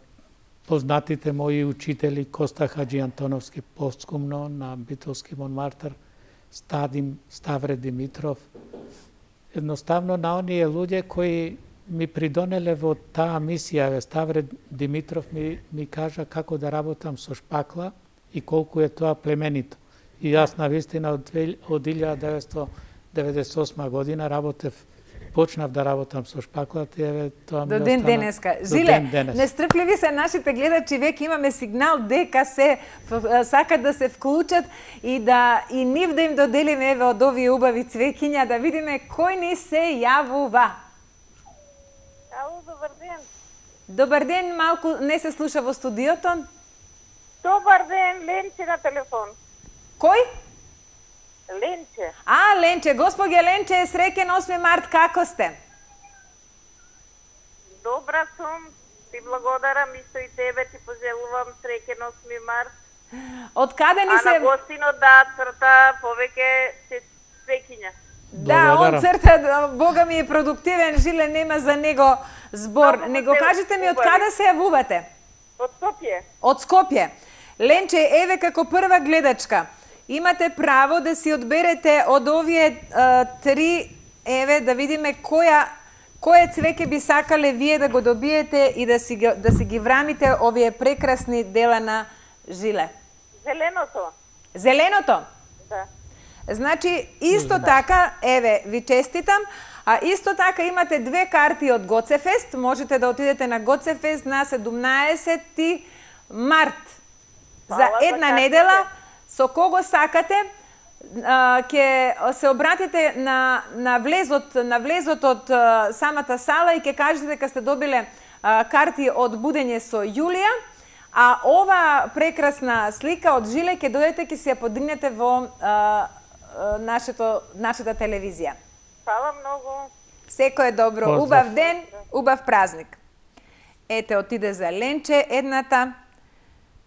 познатите мои учители Коста Хаджи Антоновски постскумно на Битолски Монмартар, Стадим Ставре Димитров. Едноставно на оние луѓе кои ми придонеле во таа мисија. Ставре Димитров ми, ми кажа како да работам со шпакла и колку е тоа племенито. И јас на вистина од, од илјада деветстотини деветдесет и осма година работев, почнав да работам со шпаклата и еве тоа ми До ден остана, денеска. до Жиле, ден денес. нестрпливи се нашите гледачи, веќе имаме сигнал дека се сакат да се вклучат и да и нив да им доделиме еве од овие убави цвеќиња, да видиме кој ни се јавува. Ало, добар ден. Добар ден, малку не се слуша во студиото. Добар ден, Ленче на телефон. Кој? Ленче. А, Ленче, господја Ленче, среќен осми март, како сте? Добра сум, ти благодарам, исто и тебе ти пожелувам среќен осми март. Од каде ни а се... на гостинот да црта повеќе цвеќиња. Да, он црта, Бога ми е продуктивен, Жиле, нема за него збор. Него кажете ми од каде се јавувате? Од Скопје. Од Скопје. Ленче, еве како прва гледачка, имате право да си одберете од овие а, три, еве да видиме која кое цвеќе би сакале вие да го добиете и да си да си ги врамите овие прекрасни дела на Жиле. Зеленото. Зеленото? Да. Значи, исто така, еве, ви честитам, а исто така имате две карти од Гоцефест, можете да отидете на Гоцефест на седумнаесети март. За една недела, со кого сакате, а, ќе се обратите на, на, влезот, на влезот од а, самата сала и ќе кажете дека сте добиле а, карти од Будење со Јулија, а ова прекрасна слика од Жиле ќе дојдете, ќе си ја подигнете во а, нашето, нашата телевизија. Фала многу. Секој е добро. Поздрав. Убав ден, убав празник. Ете, отиде за Ленче едната.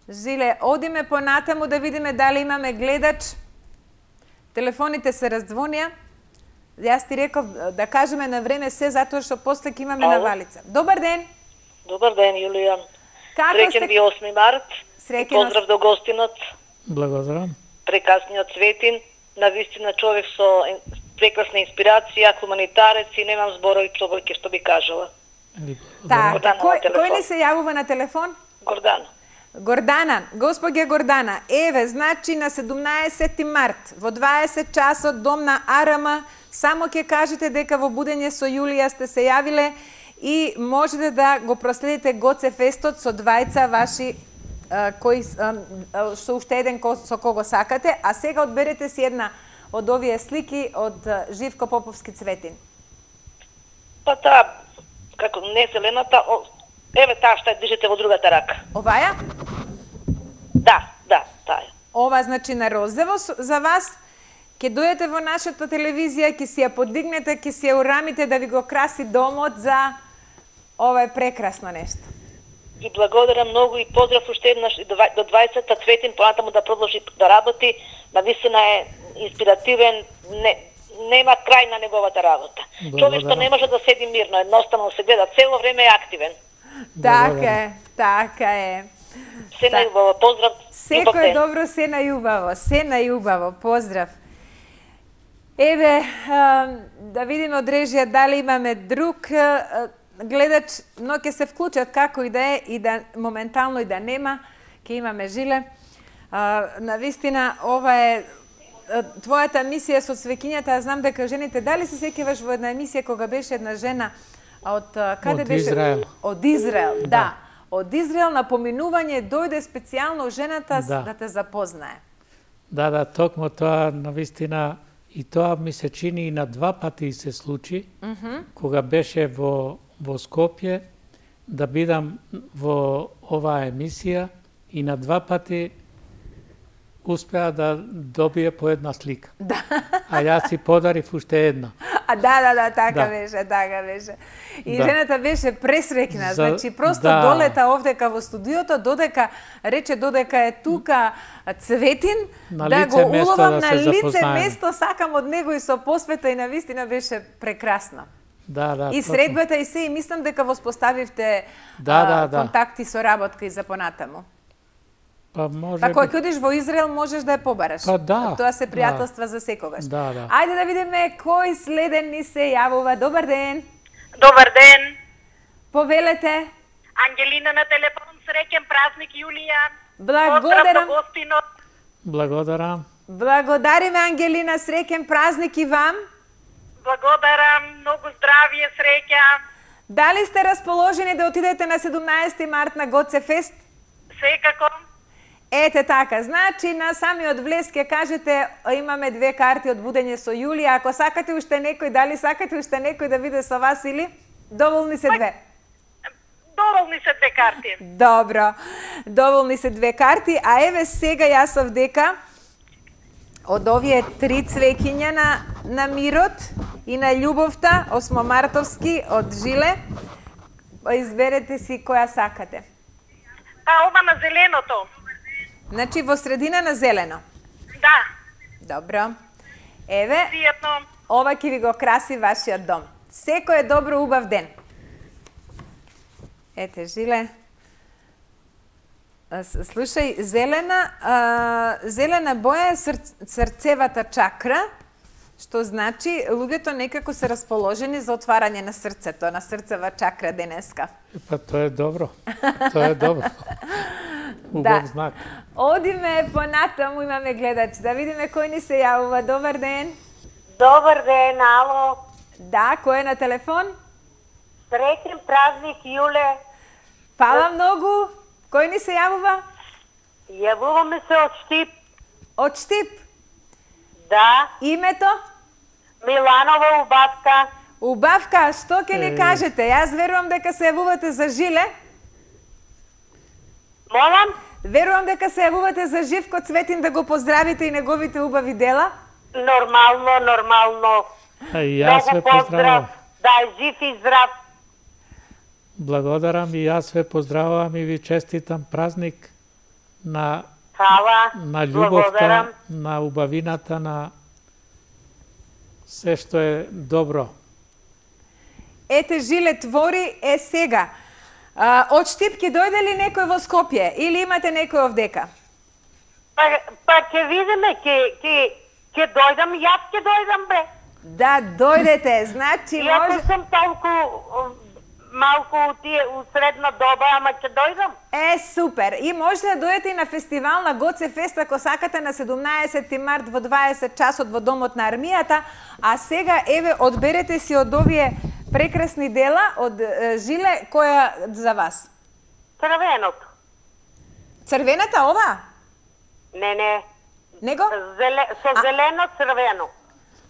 Жиле, одиме понатаму да видиме дали имаме гледач. Телефоните се раздзвонија. Јас ти реков да кажеме на време се, затоа што после ќе имаме навалица. Добар ден. Добар ден, Јулија. Како Среќен сте? ви осми март. Среќен Поздрав до гостинот, Благодарам. прекрасниот Цветин. Навистина човек со прекрасна инспирација, хуманитарец и немам зборови човек што би кажала. Така, Гордана на кој, телефон. кој ни се јавува на телефон? Гордана. Гордана, господја Гордана, еве, значи на седумнаесети март, во дваесет часот, дом на Арама, само ќе кажете дека во Будење со Јулија сте се јавиле и можете да го проследите Гоцефестот со двајца ваши а, кои а, а, со уште еден ко, со кого сакате, а сега одберете си една од овие слики од а, Живко Поповски Цветин. Па таа, како не зелената, о, еве таа што ја држите во другата рака. Оваја? Да, да, таа е. Ова значи на розово с- за вас. Ќе дојдете во нашата телевизија, ќе си ја подигнете, ќе си ја урамите да ви го краси домот за ова е прекрасно нешто. И благодарам многу и поздрав уште еднаш и до два- до дваесетта Цветин понатаму да продолжи да работи. Навистина е инспиративен, не, нема крај на неговата работа. Човек што не може да седи мирно, едноставно се гледа, цело време е активен. Така е, така е. Се најубаво, поздрав. и Секој е ден. добро, се најубаво, се најубаво. Поздрав. Еве, а, да видиме од режија дали имаме друг а, гледач, но ќе се вклучат како и да е и да моментално и да нема, ќе имаме Жиле. А, навистина, ова е а, твојата емисија со свекињата, ја знам дека жените, дали се сеќаваш во една емисија кога беше една жена од а, каде Од беше? Израел. Од Израел, да. да. Од Израел на поминување дојде специјално жената Да. да те запознае. Да, да, токму тоа навистина и тоа ми се чини и на два пати се случи, mm -hmm. кога беше во во Скопје да бидам во оваа емисија и на два пати успеа да добие по една слика. Да. А јас си подарив уште една. А да, да, да, така Да. беше, така беше. И Да. жената беше пресрекна, За- значи просто да. долета овдека во студиото, додека рече додека е тука Цветин, На да лице го место уловам да на се лице запознаеме. место, сакам од него и со посвета и навистина беше прекрасно. Да, да. И токму. средбата и се, и мислам дека воспоставивте Да, а, да, да. контакти со работка и за понатаму. Па може Па кога би- ќе одиш во Израел можеш да ја побараш. Па да, Тоа се да. пријателства за секогаш. Да, да. Ајде да видиме кој следен ни се јавува. Добар ден. Добар ден. Повелете. Ангелина на телефон, среќен празник Јулија. Благодарам. Поздрав до гостинот. Благодарам. Благодариме, Ангелина, среќен празник и вам. Благодарам, многу здравје, среќа. Дали сте расположени да отидете на седумнаесети март на Гоцефест? Секако. Ете така, значи на самиот влез ќе кажете имаме две карти од Будење со Јулија. Ако сакате уште некој, дали сакате уште некој да биде со вас или? Доволни се две. Доволни се две карти. Добро, доволни се две карти, а еве сега јас сов дека од овие три цвеќиња на, на мирот и на љубовта, осмомартовски од Жиле, изберете си која сакате. Па ова на зеленото. Значи во средина на зелено. Да, Добро. Еве, пријатно. ова ќе ви го краси вашиот дом. Секој е добро, убав ден. Ете, Жиле. Слушај, зелена, а, зелена боја е ср, срцевата чакра, што значи луѓето некако се расположени за отварање на срцето, на срцева чакра денеска. Па тоа е добро. Тоа е добро. Убав да. Знак. Одиме понатаму, имаме гледач. Да видиме кој ни се јавува. Добар ден. Добар ден, ало. Да, кој е на телефон? Среќен празник, Јуле. Фала многу. Кој ни се јавува? Јавуваме се од Штип. Од Штип? Да. Името? Миланова Убавка. Убавка, што ќе ни кажете? Јас верувам дека се јавувате за Жиле. Молам? Верувам дека се јавувате за Живко Цветин да го поздравите и неговите убави дела. Нормално, нормално. А јас ве поздравам. Да е жив и здрав. Благодарам и јас ве поздравувам и ви честитам празник на Хала. на љубовта, на убавината, на се што е добро. Ете, Жиле, твори е сега. А, од Штип ќе дојде ли некој во Скопје или имате некој овдека? Па, па ќе видиме, ќе ќе ќе дојдам, јас ќе дојдам бе. Да, дојдете, значи Иако може... сум толку малку у тие у средна доба, ама ќе дојдам. Е, супер! И може да дојдете и на фестивал на Гоце Фест, ако сакате, на седумнаесети март во дваесет часот во Домот на армијата. А сега, еве, одберете си од овие прекрасни дела од е, Жиле, која за вас? Црвеното. Црвената ова? Не, не. Него? Зеле, со А... зелено црвено.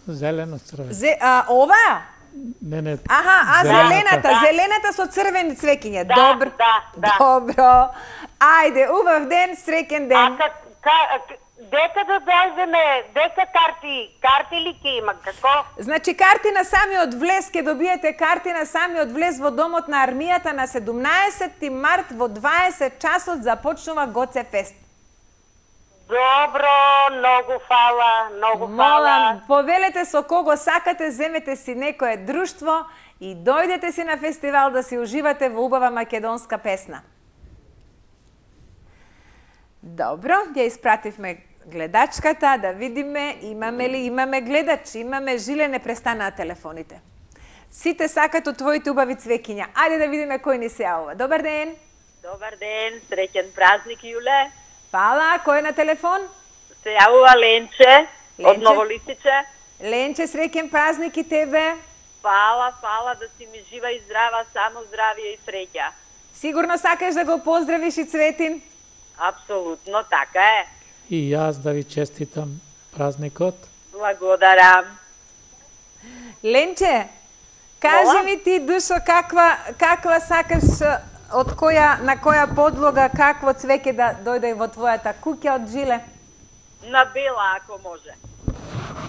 Зелено црвено. Зе, а, ова? Не, не. Аха, а зелената. зелената, Да. зелената со црвени цвеќиња. Да, Добро. да, да. Добро. Ајде, убав ден, среќен А ден. ка, ка, дека да дојдеме, дека карти, карти ли ќе има, како? Значи, карти на самиот влез, ќе добиете карти на самиот влез во Домот на армијата на седумнаесети март во дваесет часот започнува Гоце Фест. Добро, многу фала, многу фала. Молам, повелете со кого сакате, земете си некое друштво и дојдете си на фестивал да си уживате во убава македонска песна. Добро, ја испративме гледачката, да видиме имаме ли, имаме гледач, имаме Жиле, не престана телефоните. Сите сакат од твоите убави цвеќиња. Ајде да видиме кој ни се јавува. Добар ден. Добар ден, среќен празник, Јуле. Фала, кој е на телефон? Се јавува Ленче, од Ленче? Новолистиче. Ленче, среќен празник и тебе. Фала, фала да си ми жива и здрава, само здравие и среќа. Сигурно сакаш да го поздравиш и Цветин? Апсолутно, така е. И јас да ви честитам празникот. Благодарам. Ленче, кажи Мола? ми ти, душо, каква, каква сакаш, од која, на која подлога, какво цвеќе да дојде во твојата куќа од Жиле? На бела, ако може.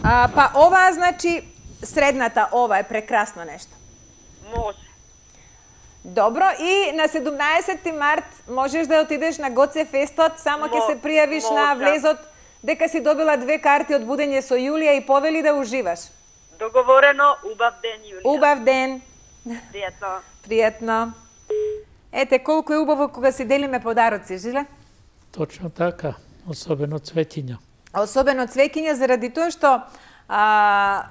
А, па ова, значи, средната, ова е прекрасно нешто. Може. Добро, и на седумнаесети март можеш да отидеш на Гоце Фестот, само ќе Мо- се пријавиш на можам. влезот, дека си добила две карти од будење со Јулија и повели да уживаш. Договорено, убав ден, Јулија. Убав ден. Пријатно. Пријатно. Ете, колку е убаво кога си делиме подароци, Жиле? Точно така, особено цветиња. Особено цвеќиња, заради тоа што а,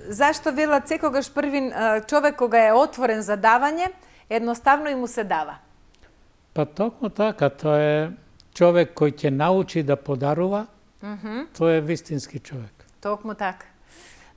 зашто велат секогаш првин а, човек кога е отворен за давање, едноставно и му се дава. Па токму така, тоа е човек кој ќе научи да подарува, mm -hmm. тој е вистински човек. Токму така.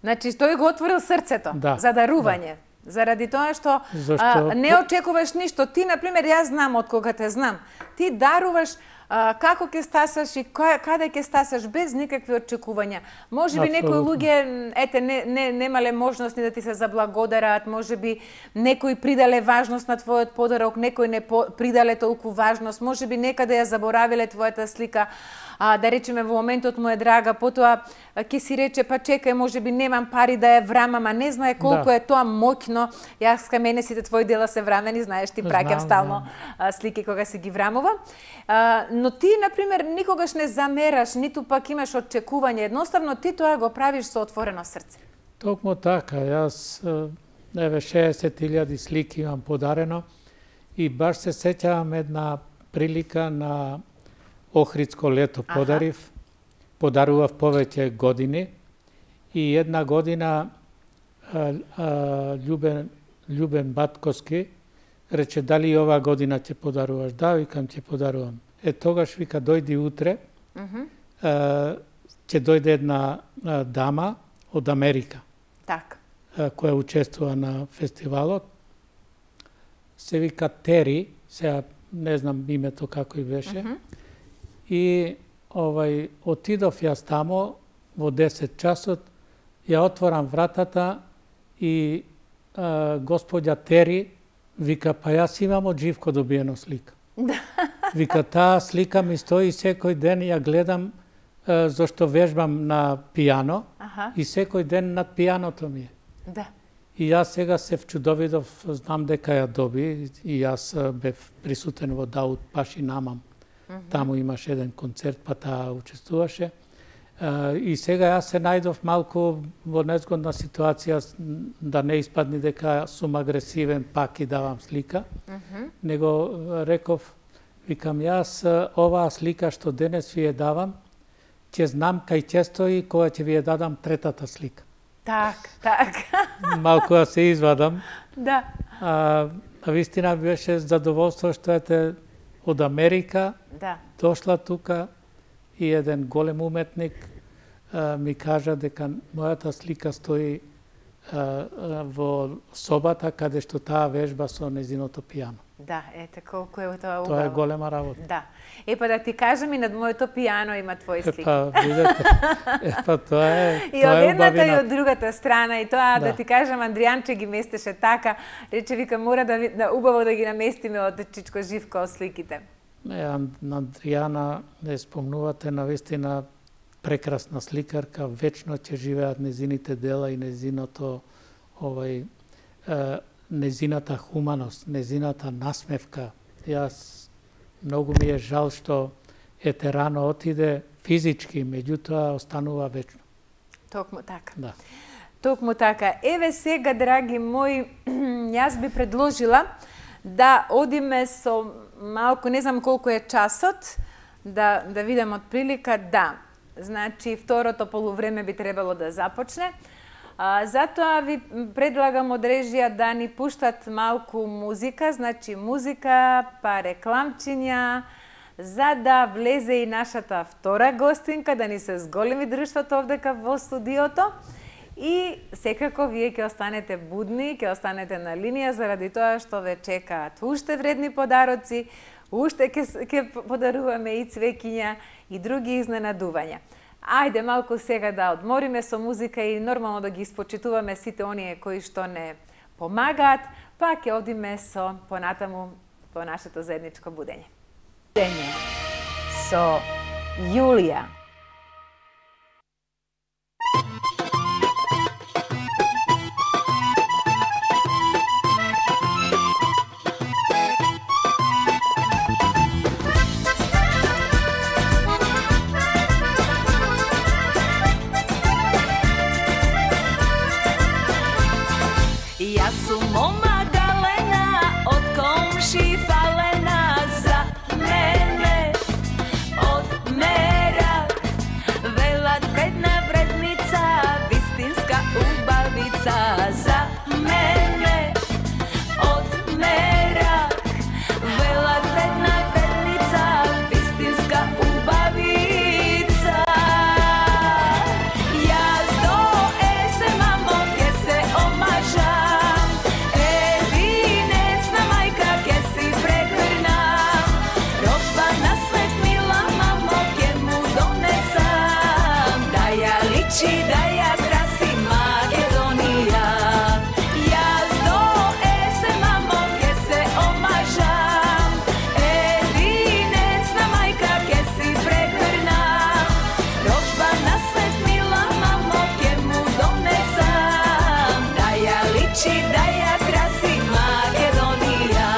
Значи, тој го отворил срцето Да, за дарување. Да. Заради тоа што Зашто... а, не очекуваш ништо. Ти, например, јас знам од кога те знам. Ти даруваш а, како ќе стасаш и која, каде ќе стасаш без никакви очекувања. Може би некои луѓе, ете, не, не, немале можност ни да ти се заблагодарат, може би некои придале важност на твојот подарок, некои не по, придале толку важност, може би некаде ја заборавиле твојата слика, а, да речеме во моментот му е драга, потоа ќе си рече, па чекај, може би немам пари да ја врамам, а не знае колку Да. е тоа моќно. Јас кај мене сите твои дела се врамени, знаеш, ти праќам Знам, стално а, слики кога си ги врамувам. А, но ти, например, никогаш не замераш, ниту пак имаш очекување. Едноставно ти тоа го правиш со отворено срце. Токму така, јас еве шеесет илјади слики имам подарено и баш се сеќавам една прилика на Охридско лето подарив. Аха. Подарував повеќе години и една година а, а, Љубен, Љубен Батковски рече дали и ова година ќе подаруваш? Да, викам ќе подарувам. Е тогаш вика дојди утре, uh -huh. а, ќе дојде една а, дама од Америка. Так. А, која учествува на фестивалот. Се вика Тери, сега не знам името како и беше. Uh -huh. И овај отидов јас тамо во десет часот, ја отворам вратата и а, господја Тери вика па јас имам од Живко добиено слика. Вика таа слика ми стои секој ден ја гледам а, зашто вежбам на пијано. Аха. И секој ден над пијаното ми е. Да. И јас сега се вчудовидов, знам дека ја доби и јас бев присутен во Дауд Паши Намам. Mm-hmm. Таму имаше еден концерт, па таа учествуваше. Uh, и сега јас се најдов малку во незгодна ситуација да не испадни дека сум агресивен пак и давам слика. Mm-hmm. Него реков, викам јас оваа слика што денес ви ја давам, ќе знам кај ќе стои кога ќе ви ја дадам третата слика. Так, так. Малку да се извадам. Да. А, а вистина беше задоволство што ете од Америка, да. Дошла тука и еден голем уметник а, ми кажа дека мојата слика стои а, а, во собата каде што таа вежба со незиното пијано. Да, ете колку е тоа убаво. Тоа е голема работа. Да. Е па да ти кажам и над моето пијано има твои слики. Е па видете. Е па тоа е. И тоа од е едната убавина. и од другата страна и тоа да, да ти кажам Андријанче ги местеше така, рече вика мора да, да убаво да ги наместиме од Чичко Живко сликите. Не, на Андријана не спомнувате навистина прекрасна сликарка, вечно ќе живеат незините дела и незиното овај е, незината хуманост, незината насмевка. Јас многу ми е жал што ете рано отиде физички, меѓутоа останува вечно. Токму така. Да. Токму така. Еве сега, драги мои, јас би предложила да одиме со малку, не знам колку е часот, да, да видам од прилика, да. Значи, второто полувреме би требало да започне. А, затоа ви предлагам од режија да ни пуштат малку музика, значи музика, па рекламчиња, за да влезе и нашата втора гостинка, да ни се зголеми друштвото овдека во студиото. И секако вие ќе останете будни, ќе останете на линија заради тоа што ве чекаат уште вредни подароци, уште ќе ќе подаруваме и цвеќиња и други изненадувања. Ајде малку сега да одмориме со музика и нормално да ги испочитуваме сите оние кои што не помагаат, па ќе одиме со понатаму по нашето заедничко будење. Будење со Јулија. Јас сум мома галена, од комши фалена, за мене од мерак. Велат вредна вредница, вистинска убавица, за мене од мерак. Велат вредна вредница, вистинска убавица. Јас до есен мамо ќе се омажам. Da ja krasim Makedonija. Jaz do esen mamo ke se omažam. Edinecna majka ke si pregrna. Rožba na svet mila mamo ke mu donesam. Da ja liči, da ja krasim Makedonija.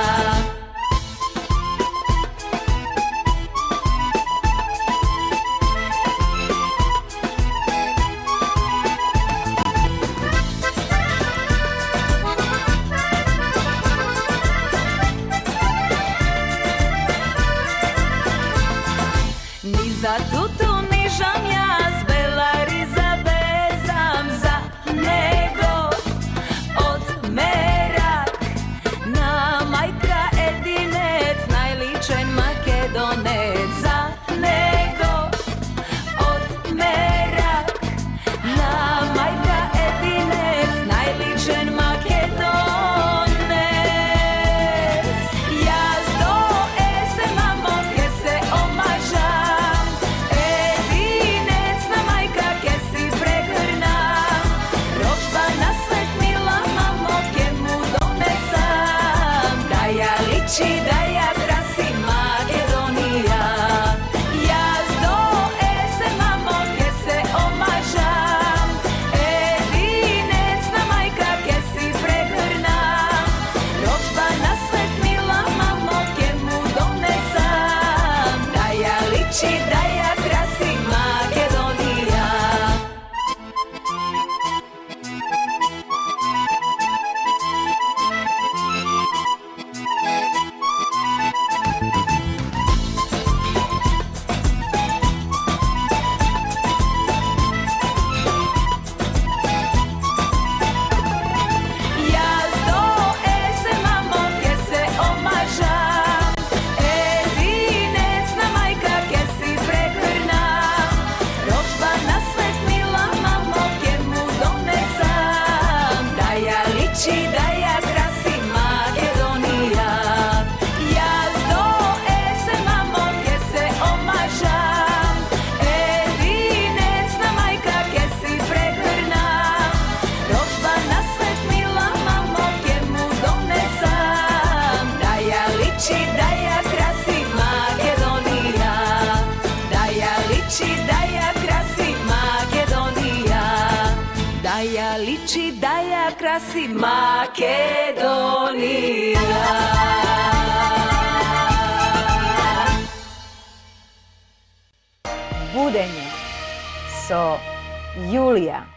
liči da ja krasi Makedonija. Budenje so Julija.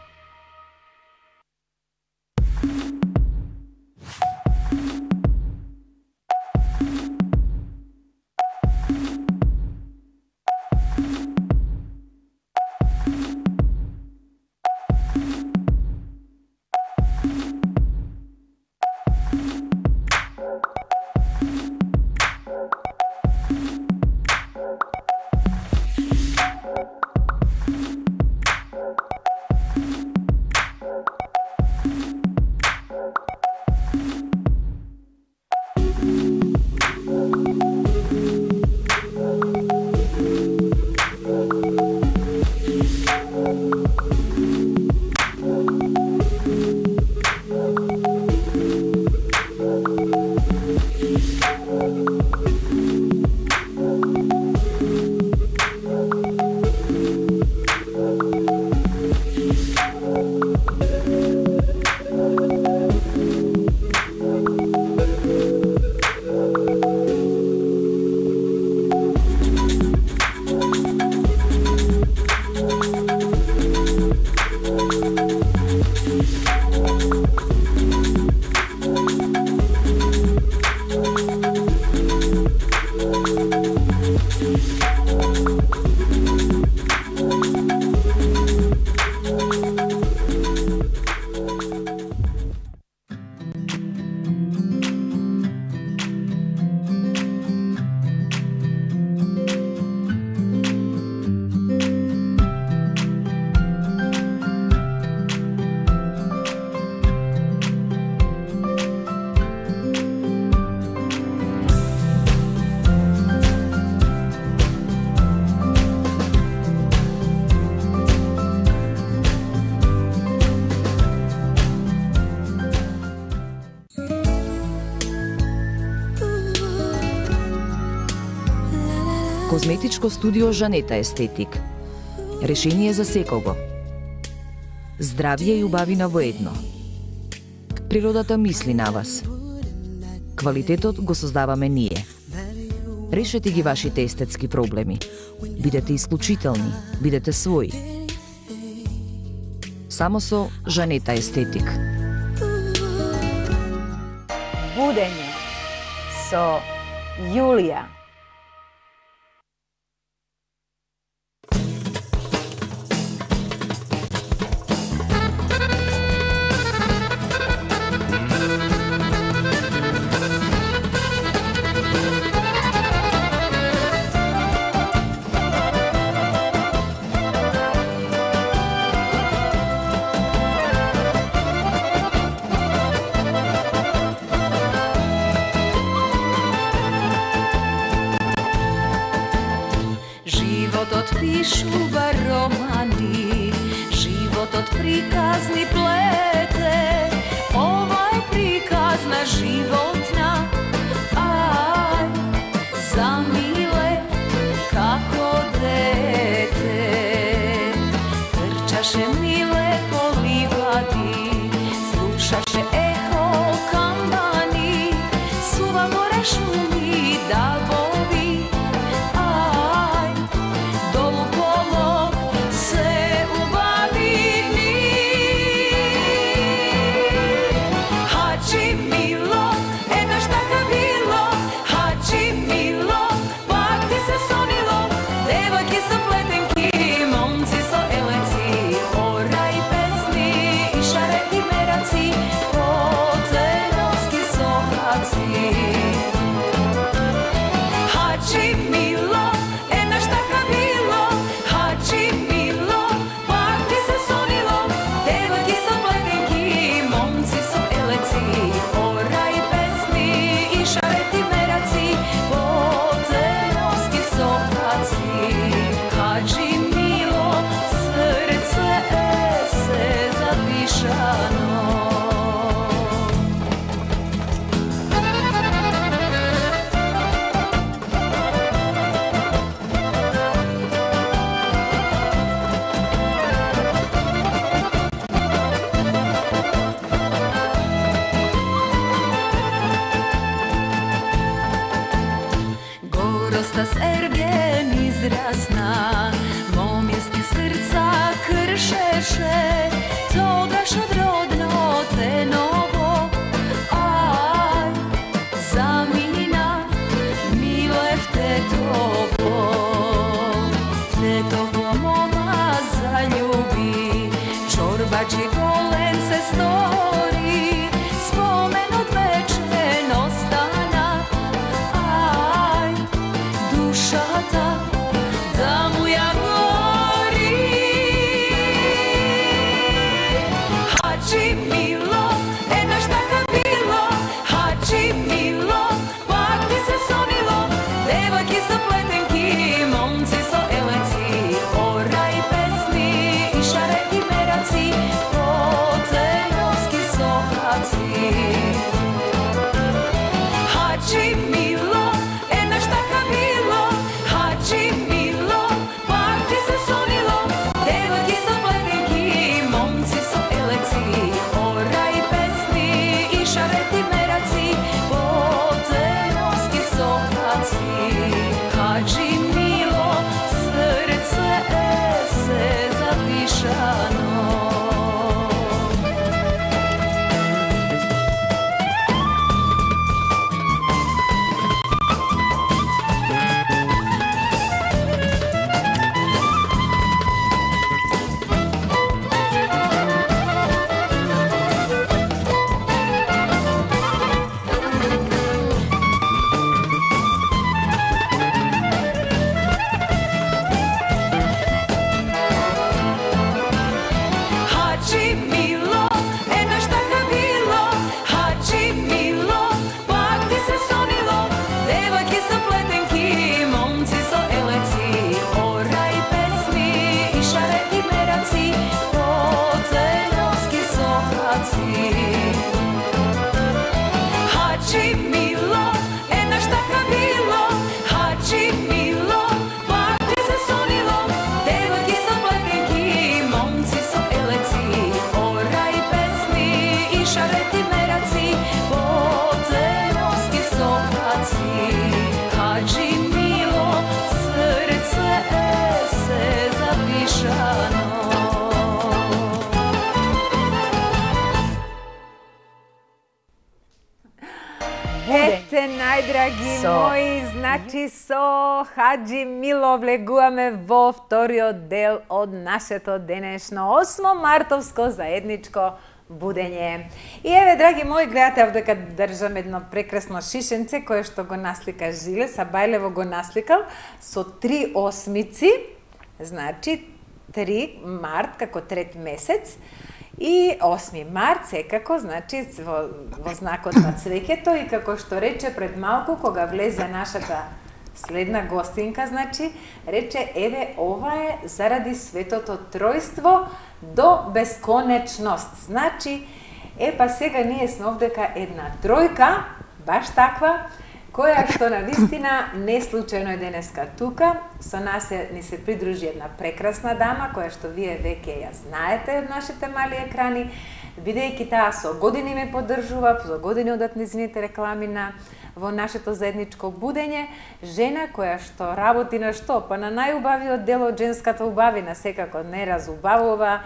Козметичко студио Жанета Естетик. Решение за секого. Здравје и убавина во едно. Природата мисли на вас. Квалитетот го создаваме ние. Решете ги вашите естетски проблеми. Бидете исклучителни, бидете своји. Само со Жанета Естетик. Будење со Јулија. Пишува романи, животот приказни плете, ова е приказ на животна, ај, замиле како дете, трчаше миле по ливади, слушаше ехо камбани, сува горе шуми давови. Ете, најдраги Со- мои, значи со Хаджи Мило влегуваме во вториот дел од нашето денешно осмо мартовско заедничко будење. И еве, драги мои, гледате овдека држам едно прекрасно шишенце кое што го наслика Жиле, Сабајлево го насликал со три осмици, значи три март како трет месец. И осми март секако, значи во, во знакот на цвеќето и како што рече пред малку кога влезе нашата следна гостинка, значи рече еве ова е заради светото тројство до бесконечност. Значи е па сега ние сме овдека една тројка, баш таква, која што на вистина не случајно е денеска тука. Со нас е, ни се придружи една прекрасна дама, која што вие веќе ја знаете од нашите мали екрани, бидејќи таа со години ме поддржува, со години одат низините реклами на во нашето заедничко будење, жена која што работи на што? Па на најубавиот дел од женската убавина, секако не разубавува,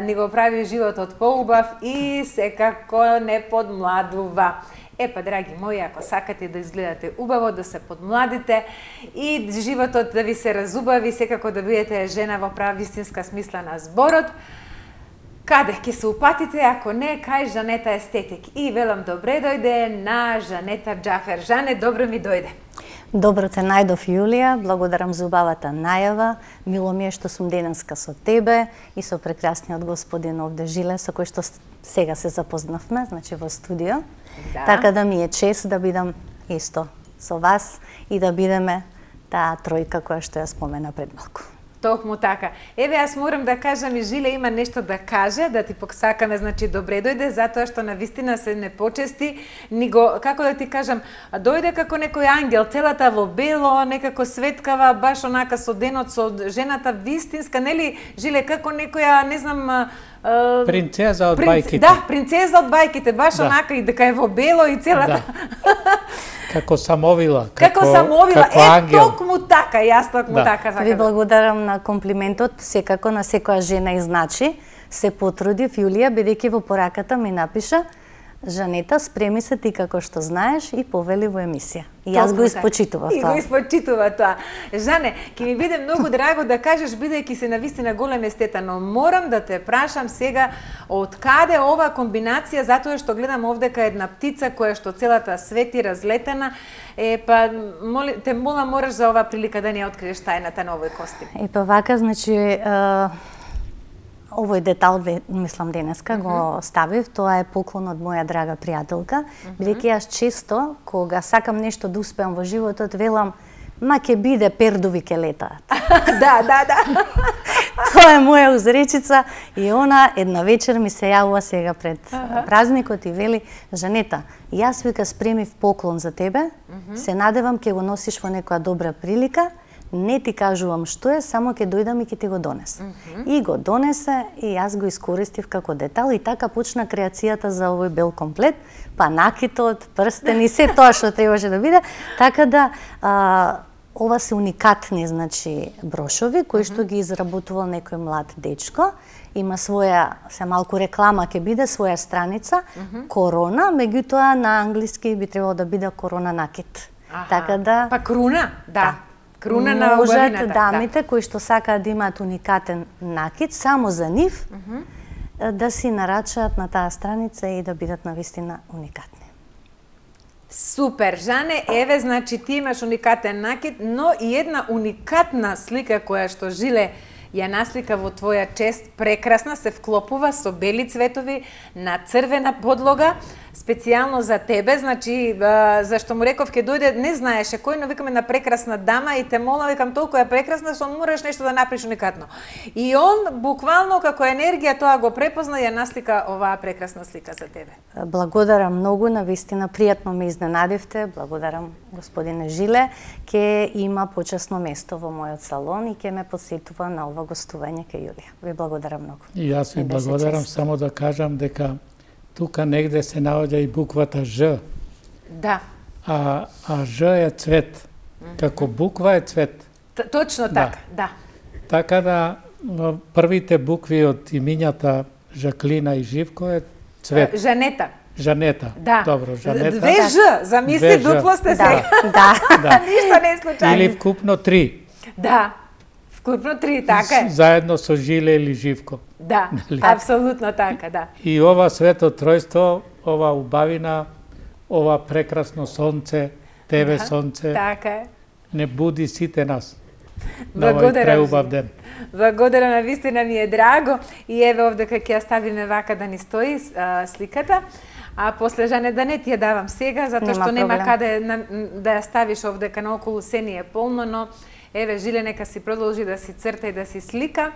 ни го прави животот поубав и секако не подмладува. Епа, драги мои, ако сакате да изгледате убаво, да се подмладите и животот да ви се разубави, секако да бидете жена во права вистинска смисла на зборот, каде ќе се упатите, ако не, кај Жанета Естетик. И велам добре дојде на Жанета Џафер. Жане, добро ми дојде. Добро те најдов, Јулија, благодарам за убавата најава. Мило ми е што сум денеска со тебе и со прекрасниот господин овде Жиле, со кој што сега се запознавме, значи во студио. Да. Така да ми е чест да бидам исто со вас и да бидеме таа тројка која што ја спомена пред малку. Токму така. Еве, јас морам да кажам и Жиле има нешто да каже, да ти посакаме, значи добре дојде, затоа што на вистина се не почести, ни го, како да ти кажам, дојде како некој ангел, целата во бело, некако светкава, баш онака со денот, со жената вистинска, нели, Жиле, како некоја, не знам, принцеза од принц... бајките. Да, принцеза од бајките, баш Да. онака и дека е во бело и целата. Да. Како самовила, Како, како, самовила, како е ангел. токму така, јас токму Да. така. Ви сакам. благодарам на комплиментот, секако на секоја жена и значи. Се потрудив, Јулија, бидејќи во пораката ми напиша Жанета, спреми се ти како што знаеш и повели во емисија. И јас Токму го така. испочитував И го тоа. испочитува тоа. Жане, ќе ми биде многу драго да кажеш, бидејќи си навистина голем естета, но морам да те прашам сега од каде ова комбинација, затоа што гледам овдека една птица која што целата свети разлетена. Е, па, моли, те молам, мораш за оваа прилика да ни ја откриеш тајната на овој костим. И па вака, значи, е, овој детал, мислам, денеска го ставив, тоа е поклон од моја драга пријателка, бидејќи јас често, кога сакам нешто да успеам во животот, велам, ма ќе биде пердови ке летаат. Да, да, да. Тоа е моја узречица и она една вечер ми се јавува сега пред празникот и вели, Жанета, јас вика спремив поклон за тебе, се надевам ќе го носиш во некоја добра прилика, не ти кажувам што е, само ќе дојдам и ќе ти го донесам. И го донесе и јас го искористив како детал и така почна креацијата за овој бел комплет, па накитот, прстени, се тоа што требаше да биде, така да а, ова се уникатни, значи, брошови кои што ги изработувал некој млад дечко. Има своја, се малку реклама ќе биде, своја страница, Корона, меѓутоа на англиски би требало да биде Корона накит. Аха. Така да Па круна, да. Круна на можат убавината. дамите кои што сакаат да имаат уникатен накит, само за нив, да си нарачаат на таа страница и да бидат навистина уникатни. Супер, Жане, еве, значи ти имаш уникатен накид, но и една уникатна слика која што Жиле ја наслика во твоја чест, прекрасна, се вклопува со бели цветови на црвена подлога, специјално за тебе, значи, зашто му реков ќе дојде, не знаеше кој, но викаме на прекрасна дама и те молам, викам толку е прекрасна, што мораш нешто да направиш уникатно. И он, буквално, како енергија, тоа го препозна и ја наслика оваа прекрасна слика за тебе. Благодарам многу, навистина пријатно ме изненадивте. Благодарам господине Жиле, ќе има почесно место во мојот салон и ќе ме посетува на ова гостување кај Јулија. Ви благодарам многу. И јас ви Ми беше благодарам, чест. само да кажам дека тука негде се наоѓа и буквата Ж, Да, а, а Ж е цвет. Како буква е цвет. т- точно Да. така, да. Така да првите букви од имињата Жаклина и Живко е цвет. Жанета. Жанета. Да. Добро, Жанета. Две Ж, замисли, дупло сте сега. Да. Да. Ништо не е случајно. Или вкупно три. Да. Вкупно три, така е. Заедно со Жиле или Живко. Да, Нали? апсолутно така, да. И ова свето тројство, ова убавина, ова прекрасно сонце, тебе Да, сонце, така е. не буди сите нас. На овој Благодарам. преубав ден. Благодарам, на вистина ми е драго. И еве овде кај ќе ја ставиме вака да ни стои а, сликата. А после Жане да не ти ја давам сега, затоа Нема што нема проблем. каде на, да ја ставиш овдека наоколу, се ни е полно, но еве Жиле нека си продолжи да си црта и да си слика.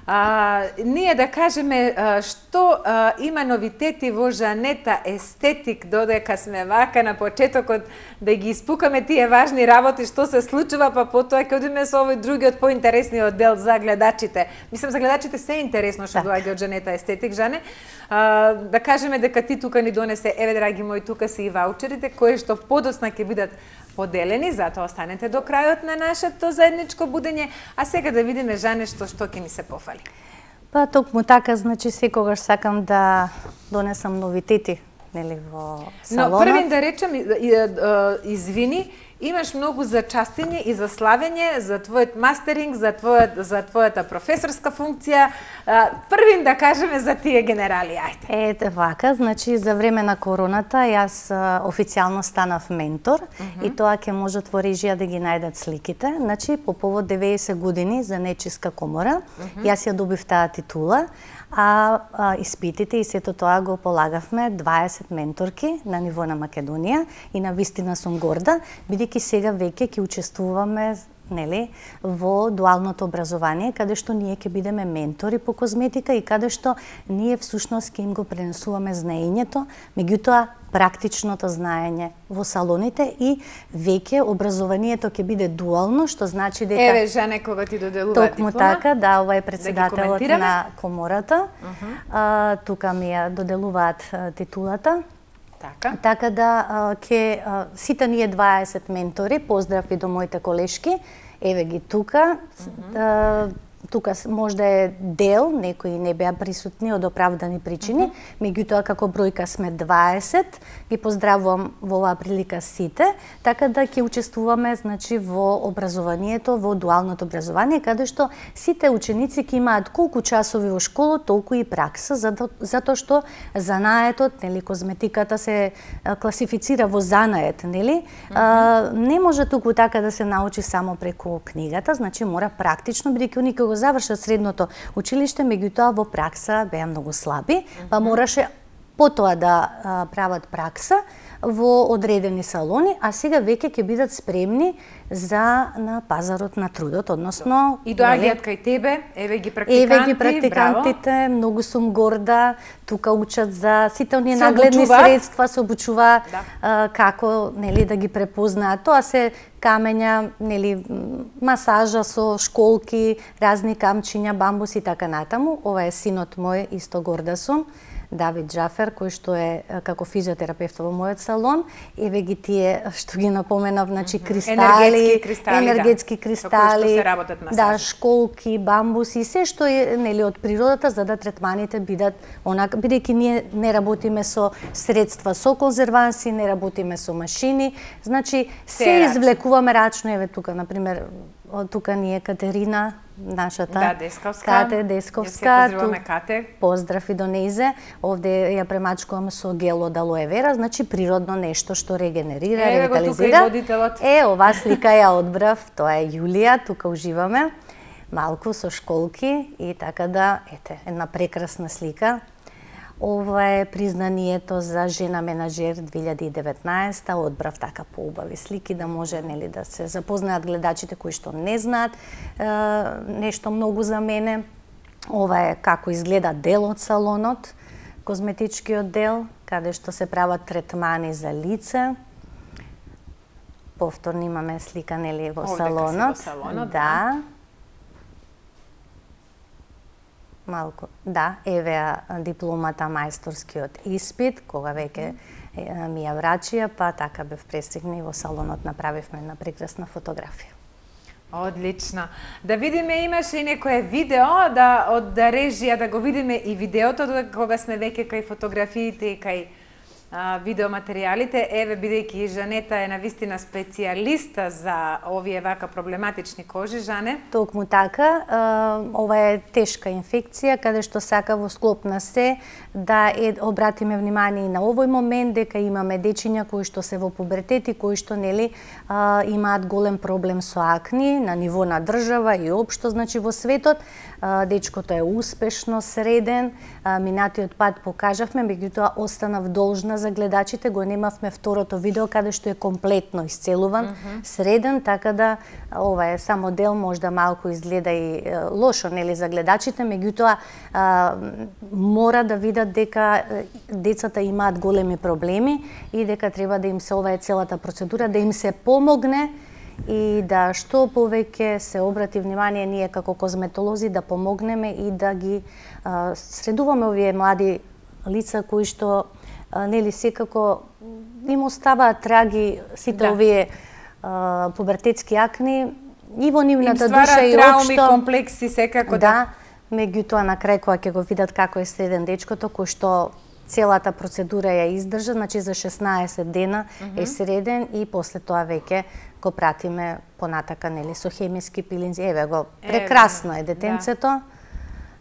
А, ние да кажеме а, што а, има новитети во Жанета естетик, додека сме вака на почетокот да ги испукаме тие важни работи што се случува, па потоа ќе одиме со овој другиот поинтересниот дел за гледачите. Мислам за гледачите се е интересно што доаѓа од Жанета естетик, Жане. А, да кажеме дека ти тука ни донесе, еве драги мои, тука се и ваучерите кои што подоцна ќе бидат поделени, затоа останете до крајот на нашето заедничко будење, а сега да видиме Жане што што ќе ни се пофали. Па токму така, значи секогаш сакам да донесам новитети, нели, во салонот. Но првин да речем, извини, имаш многу за частење и за славење, за твојот мастеринг, за твојот за твојата професорска функција. Првин да кажеме за тие генерали, ајде. Ете вака, значи за време на короната јас а, официјално станав ментор uh -huh. и тоа ќе можат во режија да ги најдат сликите. Значи по повод деветдесет години за Нечиска комора, uh -huh. јас ја добив таа титула, а, а испитите и сето тоа го полагавме дваесет менторки на ниво на Македонија и на вистина сум горда, бидејќи сега веќе ќе учествуваме, нели, во дуалното образование, каде што ние ќе бидеме ментори по козметика и каде што ние всушност ќе им го пренесуваме знаењето, меѓутоа практичното знаење во салоните и веќе образованието ќе биде дуално, што значи дека Еве Жане кога ти доделува диплома. Токму така, да, ова е да председателот на комората. Uh -huh. а, тука ми ја доделуваат а, титулата. Така. Така да а, ке а, сите ние дваесет ментори, поздрав и до моите колешки, еве ги тука. Uh -huh. а, тука можда е дел, некои не беа присутни од оправдани причини, uh -huh. меѓутоа како бројка сме дваесет, ги поздравувам во оваа прилика сите, така да ќе учествуваме, значи, во образованието, во дуалното образование, каде што сите ученици ќе имаат колку часови во школа, толку и пракса, зато, затоа што занаетот, нели, козметиката се а, класифицира во занает, нели? Uh -huh. а, не може туку така да се научи само преку книгата, значи мора практично, бидејќи они кога завршат средното училиште, меѓутоа во пракса беа многу слаби, uh -huh. па мораше потоа да а, прават пракса во одредени салони, а сега веќе ќе бидат спремни за на пазарот на трудот, односно и доаѓаат кај тебе, еве ги практиканти, еве ги практикантите, браво. Многу сум горда, тука учат за сите оние Се нагледни обучуваат. средства, се обучува Да. а, како, нели, да ги препознаат. Тоа се камења, нели, масажа со школки, разни камчиња, бамбус и така натаму. Ова е синот мој, исто горда сум, Давид Джафер, кој што е како физиотерапевт во мојот салон. Еве ги тие што ги напоменав, значи кристали, енергетски кристали, енергетски да. кристали, Со кои што се работат масажи. да, школки, бамбуси, се што е, нели, од природата, за да третманите бидат онака, бидејќи ние не работиме со средства со конзерванси, не работиме со машини, значи се, Се е извлекуваме рачно. Еве тука, на пример, тука ни е Катерина, нашата Да, Десковска. Кате Ја Десковска. се поздравуваме, Кате. Поздрав и до нејзе. Овде ја премачкувам со гел од алоe вера, значи природно нешто што регенерира, Еве го тука и ревитализира. водителот. Е, оваа слика ја одбрав, тоа е Јулија, тука уживаме малку со школки и така да, ете, една прекрасна слика. Ова е признанието за жена менаџер две илјади и деветнаесета. Одбрав така поубави слики да може, нели, да се запознаат гледачите кои што не знаат е, нешто многу за мене. Ова е како изгледа дел од салонот, козметичкиот дел, каде што се прават третмани за лице. Повторно имаме слика, нели, во Овдека салонот. си во салонот, да. Малку, да, еве дипломата, мајсторскиот испит, кога веќе ми ја врачија, па така бев пристигна и во салонот направивме една прекрасна фотографија. Одлично. Да видиме, имаше и некое видео да од да режија да го видиме и видеото кога сме веќе кај фотографиите и кај видеоматеријалите, еве бидејќи Жанета е навистина специјалиста за овие вака проблематични кожи, Жане? Токму така, ова е тешка инфекција, каде што сака во склоп на се да е, обратиме внимание и на овој момент, дека имаме дечиња кои што се во пубертет и кои што нели имаат голем проблем со акни на ниво на држава и општо, значи во светот. Дечкото е успешно среден, минатиот пат покажавме, меѓутоа останав должна за гледачите, го немавме второто видео каде што е комплетно исцелуван, mm -hmm. среден, така да ова е само дел, можда малку изгледа и лошо нели за гледачите, меѓутоа мора да видат дека децата имаат големи проблеми и дека треба да им се, ова е целата процедура, да им се помогне и да што повеќе се обрати внимание ние како козметолози да помогнеме и да ги а, средуваме овие млади лица кои што а, нели секако им оставаат траги сите да. овие а, пубертетски акни и во нивната душа и трауми, општо комплекси секако да. Меѓутоа на крај кога ќе го видат како е среден дечкото кој што целата процедура ја издржа, значи за шеснаесет дена mm -hmm. е среден и после тоа веќе го пратиме понатака нели со хемиски пилинзи. Еве го, прекрасно е детенцето. Да.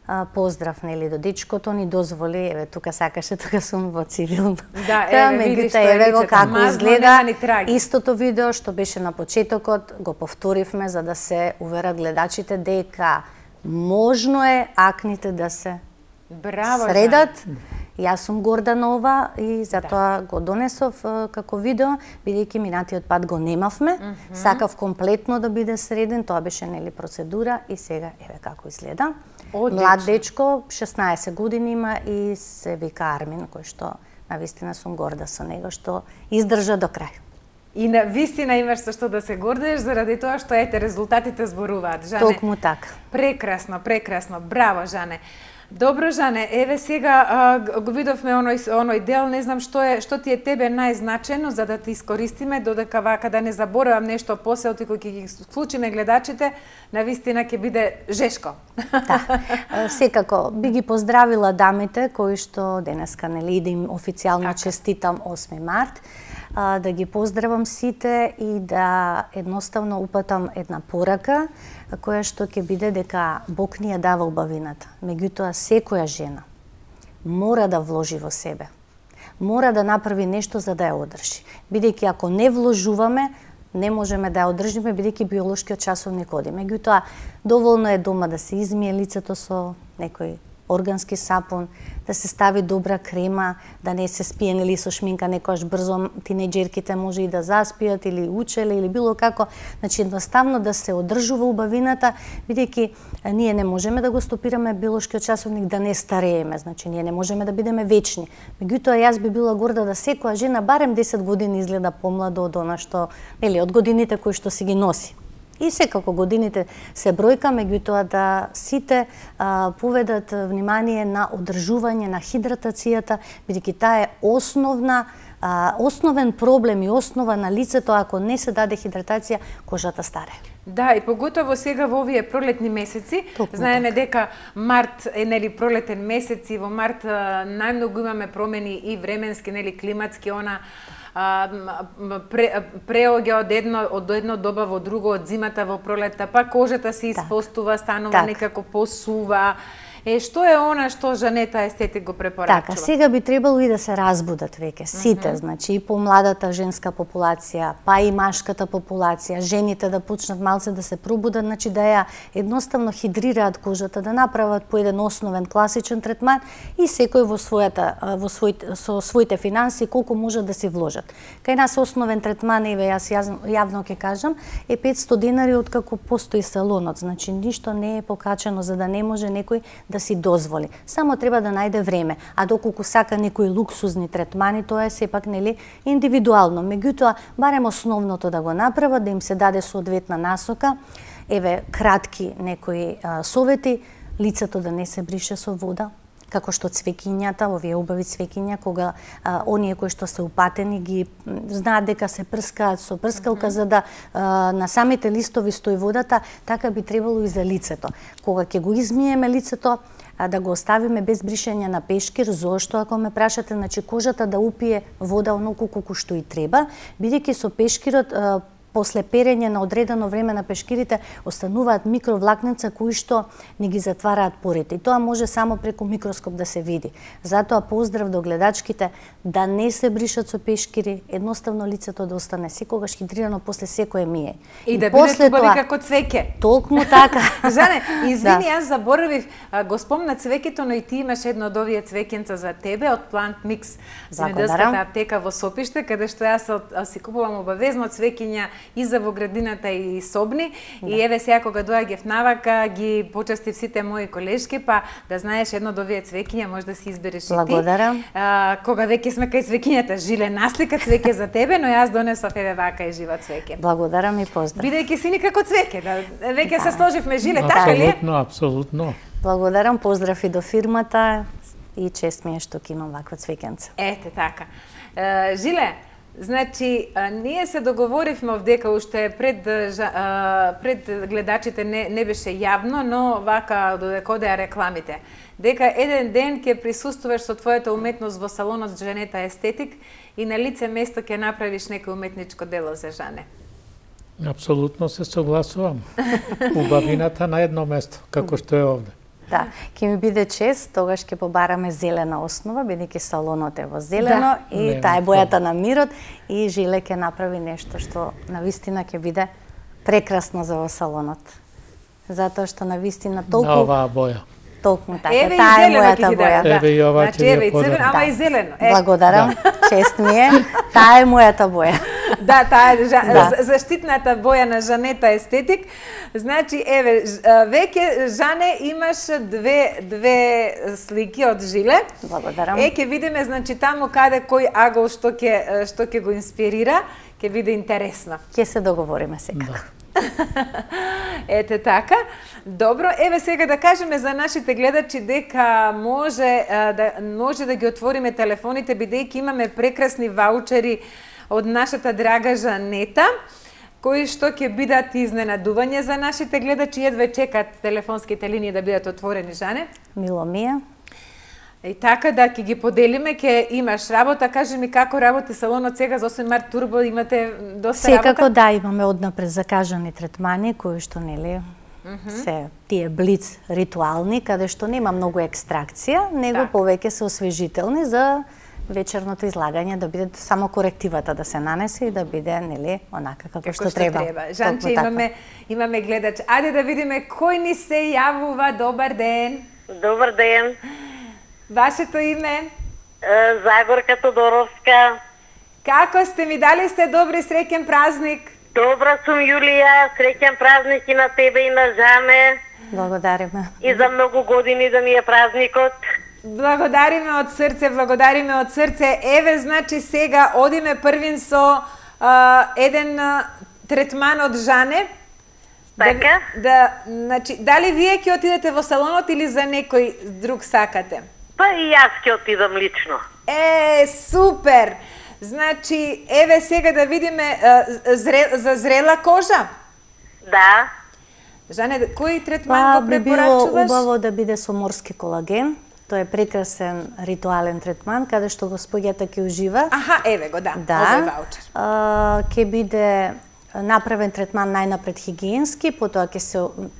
А, поздрав нели до дечкото, ни дозволи, еве тука сакаше, тука сум во цивилно. Да, еве видиш тоа еве го како изгледа. Истото видео што беше на почетокот го повторивме за да се уверат гледачите дека можно е акните да се Браво, средат. Да. Јас сум горда на ова и затоа да. го донесов како видео, бидејќи минатиот пат го немавме. Mm -hmm. Сакав комплетно да биде среден, тоа беше нели процедура и сега еве како изгледа. Одлично. Млад дечко, шеснаесет години има и се вика Армин, кој што навистина сум горда со него што издржа до крај. И на вистина имаш со што да се гордеш заради тоа што ете резултатите зборуваат, Жане. Токму така. Прекрасно, прекрасно. Браво, Жане. Добро, Жане, еве сега а, го видовме оној оној дел, не знам што е што ти е тебе најзначено за да те искористиме додека вака да не заборавам нешто после кој ќе ги вклучиме гледачите, навистина ќе биде жешко. Да. Секако би ги поздравила дамите кои што денеска нели да им официјално честитам осми март. Да ги поздравам сите и да едноставно упатам една порака која што ќе биде дека Бог ни ја дава убавината. Меѓутоа секоја жена мора да вложи во себе. Мора да направи нешто за да ја одржи. Бидејќи ако не вложуваме, не можеме да ја одржиме бидејќи биолошкиот часовник оди. Меѓутоа доволно е дома да се измие лицето со некој органски сапун, да се стави добра крема, да не се спие нели со шминка, некојаш брзо тинеџерките може и да заспијат или учеле или било како, значи едноставно да се одржува убавината, бидејќи ние не можеме да го стопираме биолошкиот часовник да не старееме, значи ние не можеме да бидеме вечни. Меѓутоа јас би била горда да секоја жена барем десет години изгледа помладо од она што, нели, од годините кои што си ги носи. И секако годините се бројка, меѓутоа да сите а, поведат внимание на одржување на хидратацијата, бидејќи таа е основна, а, основен проблем и основа на лицето, ако не се даде хидратација, кожата старе. Да, и поготово сега во овие пролетни месеци, Токму знаеме така. дека март е нели пролетен месец и во март најмногу имаме промени и временски, нели климатски, она А, пре, преоѓа од едно од едно доба во друго, од зимата во пролетта, па кожата се испостува, станува так. некако посува. Е, што е она што Жанета естетик го препорачува? Така, сега би требало и да се разбудат веќе сите, mm -hmm. значи и помладата женска популација, па и машката популација, жените да почнат малце да се пробудат, значи да ја едноставно хидрираат кожата, да направат по еден основен класичен третман и секој во својата во своите со своите финанси колку може да се вложат. Кај нас основен третман, еве јас јавно ќе кажам, е петсто денари откако постои салонот, значи ништо не е покачено за да не може некој да си дозволи. Само треба да најде време, а доколку сака некои луксузни третмани, тоа е сепак нели индивидуално. Меѓутоа, барем основното да го направат, да им се даде соодветна насока. Еве кратки некои а, совети, лицето да не се брише со вода, како што цвеќињата, овие убави цвеќиња, кога а, оние кои што се упатени ги знаат дека се прскаат со прскалка, mm -hmm. за да а, на самите листови стои водата, така би требало и за лицето. Кога ќе го измиеме лицето, а, да го оставиме без бришење на пешкир. Зошто, ако ме прашате, значи кожата да упие вода оноку колку што и треба, бидејќи со пешкирот а, после перење на одредено време на пешкирите остануваат микровлакненца кои што не ги затвараат порите. И тоа може само преку микроскоп да се види. Затоа поздрав до гледачките да не се бришат со пешкири, едноставно лицето да остане секогаш хидрирано после секое мије. И, и да биде убави како цвеќе. Толкому така. Жане, извини, да. Јас заборавив, го спомна цвеќето, но и ти имаш едно од овие цвеќенца за тебе од Plant Mix, земјоделската аптека во Сопиште, каде што јас си купувам обавезно цвеќиња и за во градината и собни. Да. И еве сега кога доаѓав навака, ги почастив сите мои колешки, па да знаеш едно од овие цвеќиња може да си избереш и ти. Благодарам. А, кога веќе сме кај цвеќињата, жиле наслика цвеќе за тебе, но јас донесов еве вака и живо цвеќе. Благодарам и поздрав. Бидејќи си никако цвеќе, да веќе да. се сложивме жиле, така ли? Апсолутно, апсолутно. Благодарам, поздрав и до фирмата и чест ми е што ќе имам ваква цвеќенца. Ете така. Uh, Жиле, значи, а, ние се договоривме дека уште пред, а, пред гледачите не, не беше јавно, но вака додека одеа рекламите, дека еден ден ќе присуствуваш со твојата уметност во салонот Жанета Естетик и на лице место ќе направиш некој уметничко дело за Жане. Апсолутно се согласувам. Убавината на едно место, како што е овде. Да, ќе ми биде чест, тогаш ќе побараме зелена основа, бидејќи салонот е во зелено да. И таа е бојата на мирот и Жиле ќе направи нешто што навистина ќе биде прекрасно за во салонот. Затоа што навистина толку на оваа боја. Толку така, таа е мојата боја. Еве и ова значи, еве и црвено, ама и зелено. Е. Благодарам, да. Чест ми е. Таа е мојата боја. Да, таа е жа, да. заштитната боја на Жанета Естетик. Значи, еве, веќе Жане имаш две две слики од Жиле. Благодарам. Е, ќе видиме значи таму каде кој агол што ќе што ќе го инспирира, ќе биде интересно. Ќе се договориме сега. Да. Ете така. Добро, еве сега да кажеме за нашите гледачи дека може да може да ги отвориме телефоните бидејќи имаме прекрасни ваучери од нашата драга Жанета, кои што ќе бидат изненадување за нашите гледачи, едве чекат телефонските линии да бидат отворени, Жане. Мило ми е. И така да ќе ги поделиме, ќе имаш работа. Кажи ми како работи салонот сега за осем март Турбо, имате доста Секако, работа? Секако да, имаме однапред закажани третмани кои што нели mm -hmm. се тие блиц ритуални, каде што нема многу екстракција, него так. Повеќе се освежителни за вечерното излагање, да биде само корективата да се нанесе и да биде нели онака како, како што, што треба. треба. Жанче, имаме имаме гледач. Ајде да видиме кој ни се јавува. Добар ден. Добар ден. Вашето име? Загорка Тодоровска. Како сте, ми дали сте добри, среќен празник? Добра сум, Јулија, среќен празник и на тебе и на Жане. Благодариме. И за многу години да ми е празникот. Благодариме од срце, благодариме од срце. Еве, значи сега одиме првин со а, еден а, третман од Жане. Така? Да, да, значи, дали вие ќе отидете во салонот или за некој друг сакате? Па и јас ќе отидам лично. Е, супер! Значи, еве сега да видиме а, зре, за зрела кожа? Да. Жане, кој третман па, го препорачуваш? Би било убаво да биде со морски колаген. Тоа е прекрасен ритуален третман, каде што господјата ќе ужива. Аха, еве го, да, да. овој ваучер. А, ќе биде направен третман најнапред хигиенски, потоа ќе се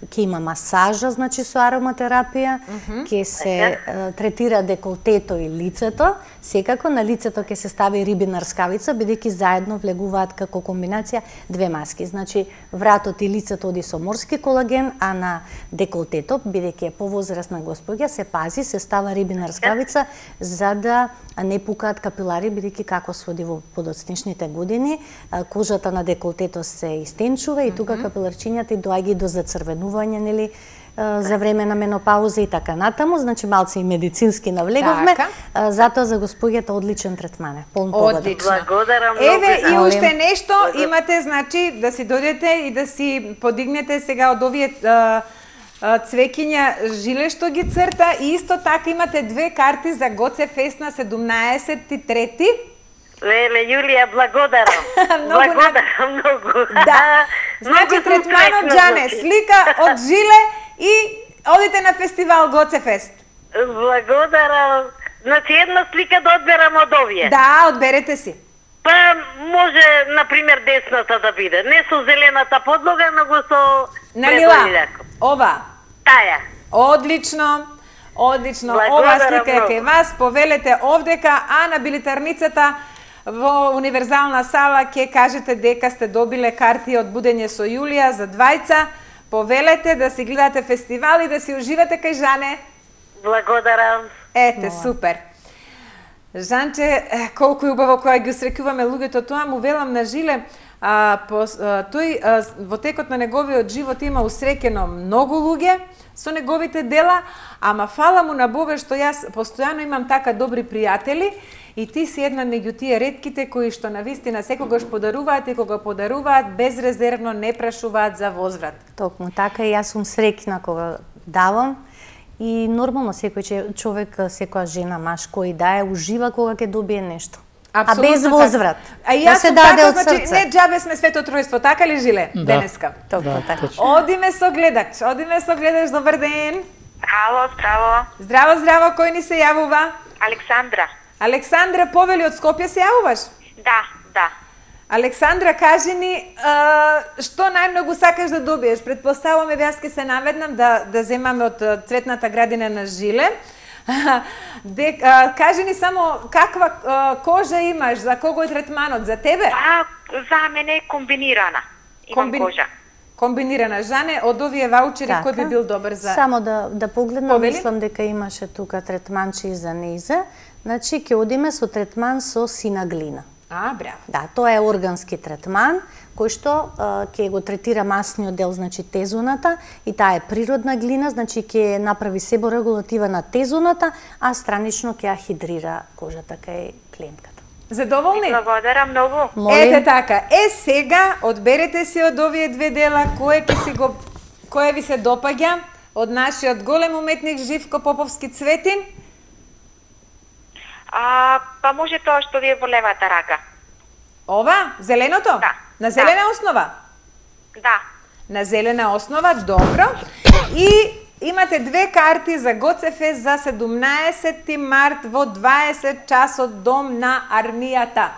ќе има масажа, значи со ароматерапија, ќе mm -hmm. се uh, третира деколтето и лицето. Секако на лицето ќе се стави рибина рскавица, бидејќи заедно влегуваат како комбинација две маски. Значи вратот и лицето оди со морски колаген, а на деколтето, бидејќи е повозрасна господја, се пази, се става рибина рскавица за да не пукаат капилари, бидејќи како се оди во подоцничните години, кожата на деколтето се истенчува и тука капиларчињата и доаѓа до зацрвенување, нели, за време на менопауза и така натаму, значи малце и медицински навлеговме, така. Затоа за господјата одличен третман е, полн погода. Одлично. Благодарам многу. Еве и уште нешто имате, значи да си дојдете и да си подигнете сега од овие а, а, цвеќиња Жиле што ги црта и исто така имате две карти за Гоце Фест на седумнаесет и трети. Леле, Јулија, благодарам. Благодарам многу. Да. Значи третман од Жане, слика од Жиле и одите на фестивал Гоце Фест. Благодарам. Значи една слика да одберам од овие. Да, одберете си. Па може, например, десната да биде. Не со зелената подлога, но со Налила, предолиляко. ова. Таја. Одлично. Одлично. Ова Благодарам слика е многу. кај вас. Повелете овдека, а на билетарницата во универзална сала ќе кажете дека сте добиле карти од Будење со Јулија за двајца. Повелете да си гледате фестивал и да си уживате кај Жане. Благодарам. Ете, супер. Жанче, е, колку е убаво кога ги усрекуваме луѓето, тоа му велам на Жиле, а, по, а, тој а, во текот на неговиот живот има усрекено многу луѓе со неговите дела, ама фала му на Бога што јас постојано имам така добри пријатели и ти си една меѓу тие ретките кои што навистина секогаш подаруваат и кога подаруваат безрезервно не прашуваат за возврат. Токму така и јас сум среќна кога давам. И нормално секој човек, секоја жена, маж, кој дае, ужива кога ќе добие нешто. Апсолутно а без возврат. А и да јас се сум даде така, од значи, срце. не џабе сме свето тројство, така ли Жиле, Да. денеска? Токму Да, така. точно. Одиме со гледач, одиме со гледач, добар ден. Ало, здраво. Здраво, здраво, кој ни се јавува? Александра. Александра, повели од Скопје се јавуваш? Да, да. Александра, кажи ни, а, што најмногу сакаш да добиеш? Предпоставуваме, јас ке се наведнам да, да земаме од а, цветната градина на Жиле. Де, а, кажи ни само каква а, кожа имаш, за кого е третманот, за тебе? А, за мене е комбинирана. Имам Комбин- кожа. Комбинирана. Жане, од овие ваучери, кој би бил добар за... Само да, да погледнам, Повели? мислам дека имаше тука третманче и за нејзе. Значи, ќе одиме со третман со сина глина. А, браво. Да, тоа е органски третман, кој што а, ќе го третира масниот дел, значи тезоната, и таа е природна глина, значи ќе направи себорегулатива на тезоната, а странично ќе ја хидрира кожата кај клиентката. Задоволни? Благодарам многу. Молим. Ете така. Е, сега одберете си од овие две дела кој ќе си го кој ви се допаѓа од нашиот голем уметник Живко Поповски Цветин. А, па може тоа што ви е во левата рака. Ова, зеленото? Да. На зелена основа? Да. На зелена основа, добро. И имате две карти за Гоцефест за седумнаесети март во дваесет часот дом на армијата.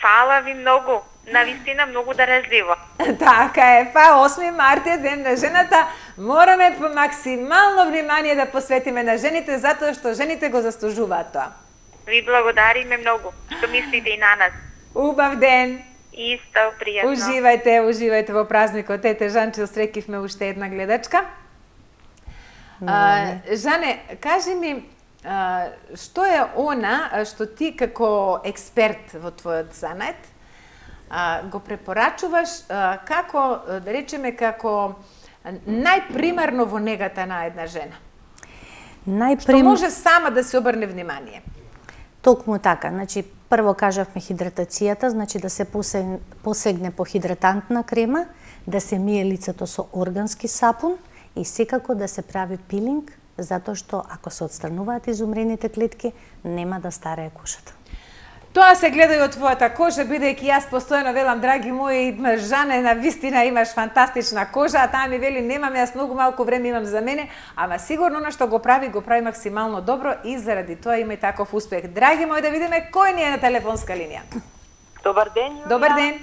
Фала ви многу. Навистина многу дарежливо. Така е, па осми март е ден на жената. Мораме по максимално внимание да посветиме на жените, затоа што жените го заслужуваат тоа. Ви благодариме многу што мислите и на нас. Убав ден. Исто, пријатно. Уживајте, уживајте во празникот. Ете, Жанче, усрекивме уште една гледачка. А, Жане, кажи ми, а, што е она а, што ти како експерт во твојот занет а, го препорачуваш а, како, а, да речеме, како најпримарно во негата на една жена? Најприм... Што може сама да се обрне внимание? Токму така, значи прво кажавме хидратацијата, значи да се посегне, посегне по хидратантна крема, да се мие лицето со органски сапун и секако да се прави пилинг, затоа што ако се отстрануваат изумрените клетки, нема да старее кожата. Тоа се гледа и од твојата кожа, бидејќи јас постојано велам, драги мои, Жане, на вистина имаш фантастична кожа, а таа ми вели, немам, јас многу малку време имам за мене, ама сигурно на што го прави, го прави максимално добро и заради тоа има и таков успех. Драги мои, да видиме кој ни е на телефонска линија. Добар ден, Јулија. Добар ден.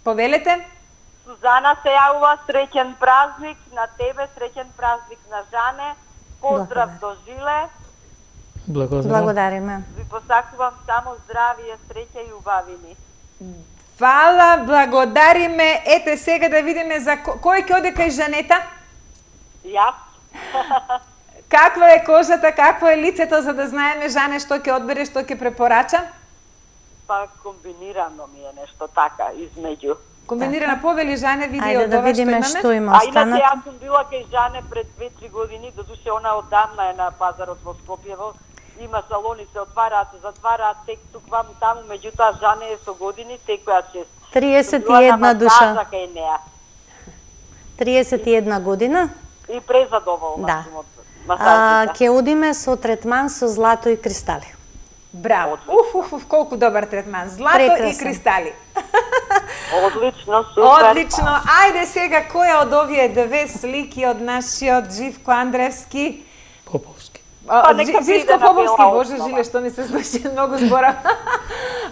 Повелете? Сузана се јавува, среќен празник на тебе, среќен празник на Жане. Поздрав до Жиле. Благодарам. Благодариме. Ви посакувам само здравие, среќа и убавини. Фала, благодариме. Ете сега да видиме за ко... кој ќе оде кај Жанета? Јас. Каква е кожата, какво е лицето, за да знаеме, Жане, што ќе одбере, што ќе препорача? Па комбинирано ми е нешто така измеѓу. Комбинирана повели, Жане, види Ајде од да ова што видиме имаме. што има А инаče останато. јас сум била кај Жане пред две-три години, додуше она одамна е на пазарот во Скопјево. Има салони се отвараат, се затвараат, тек тук ваму таму, меѓутоа Жане е со години, секоја чест. триесет и една душа. Кај неа. триесет и една година. И презадоволна Да. сум од А, масажите. ќе одиме со третман со злато и кристали. Браво. Уф, уф, уф, колку добар третман. Злато Прекрасен. и кристали. Одлично, супер. Одлично. Ајде сега, која од овие две слики од нашиот Живко Андревски? Поповски. А, Па, од нека Жи- Живко биде на Поповски, бела боже основа. жиле, што ми се случи многу збора.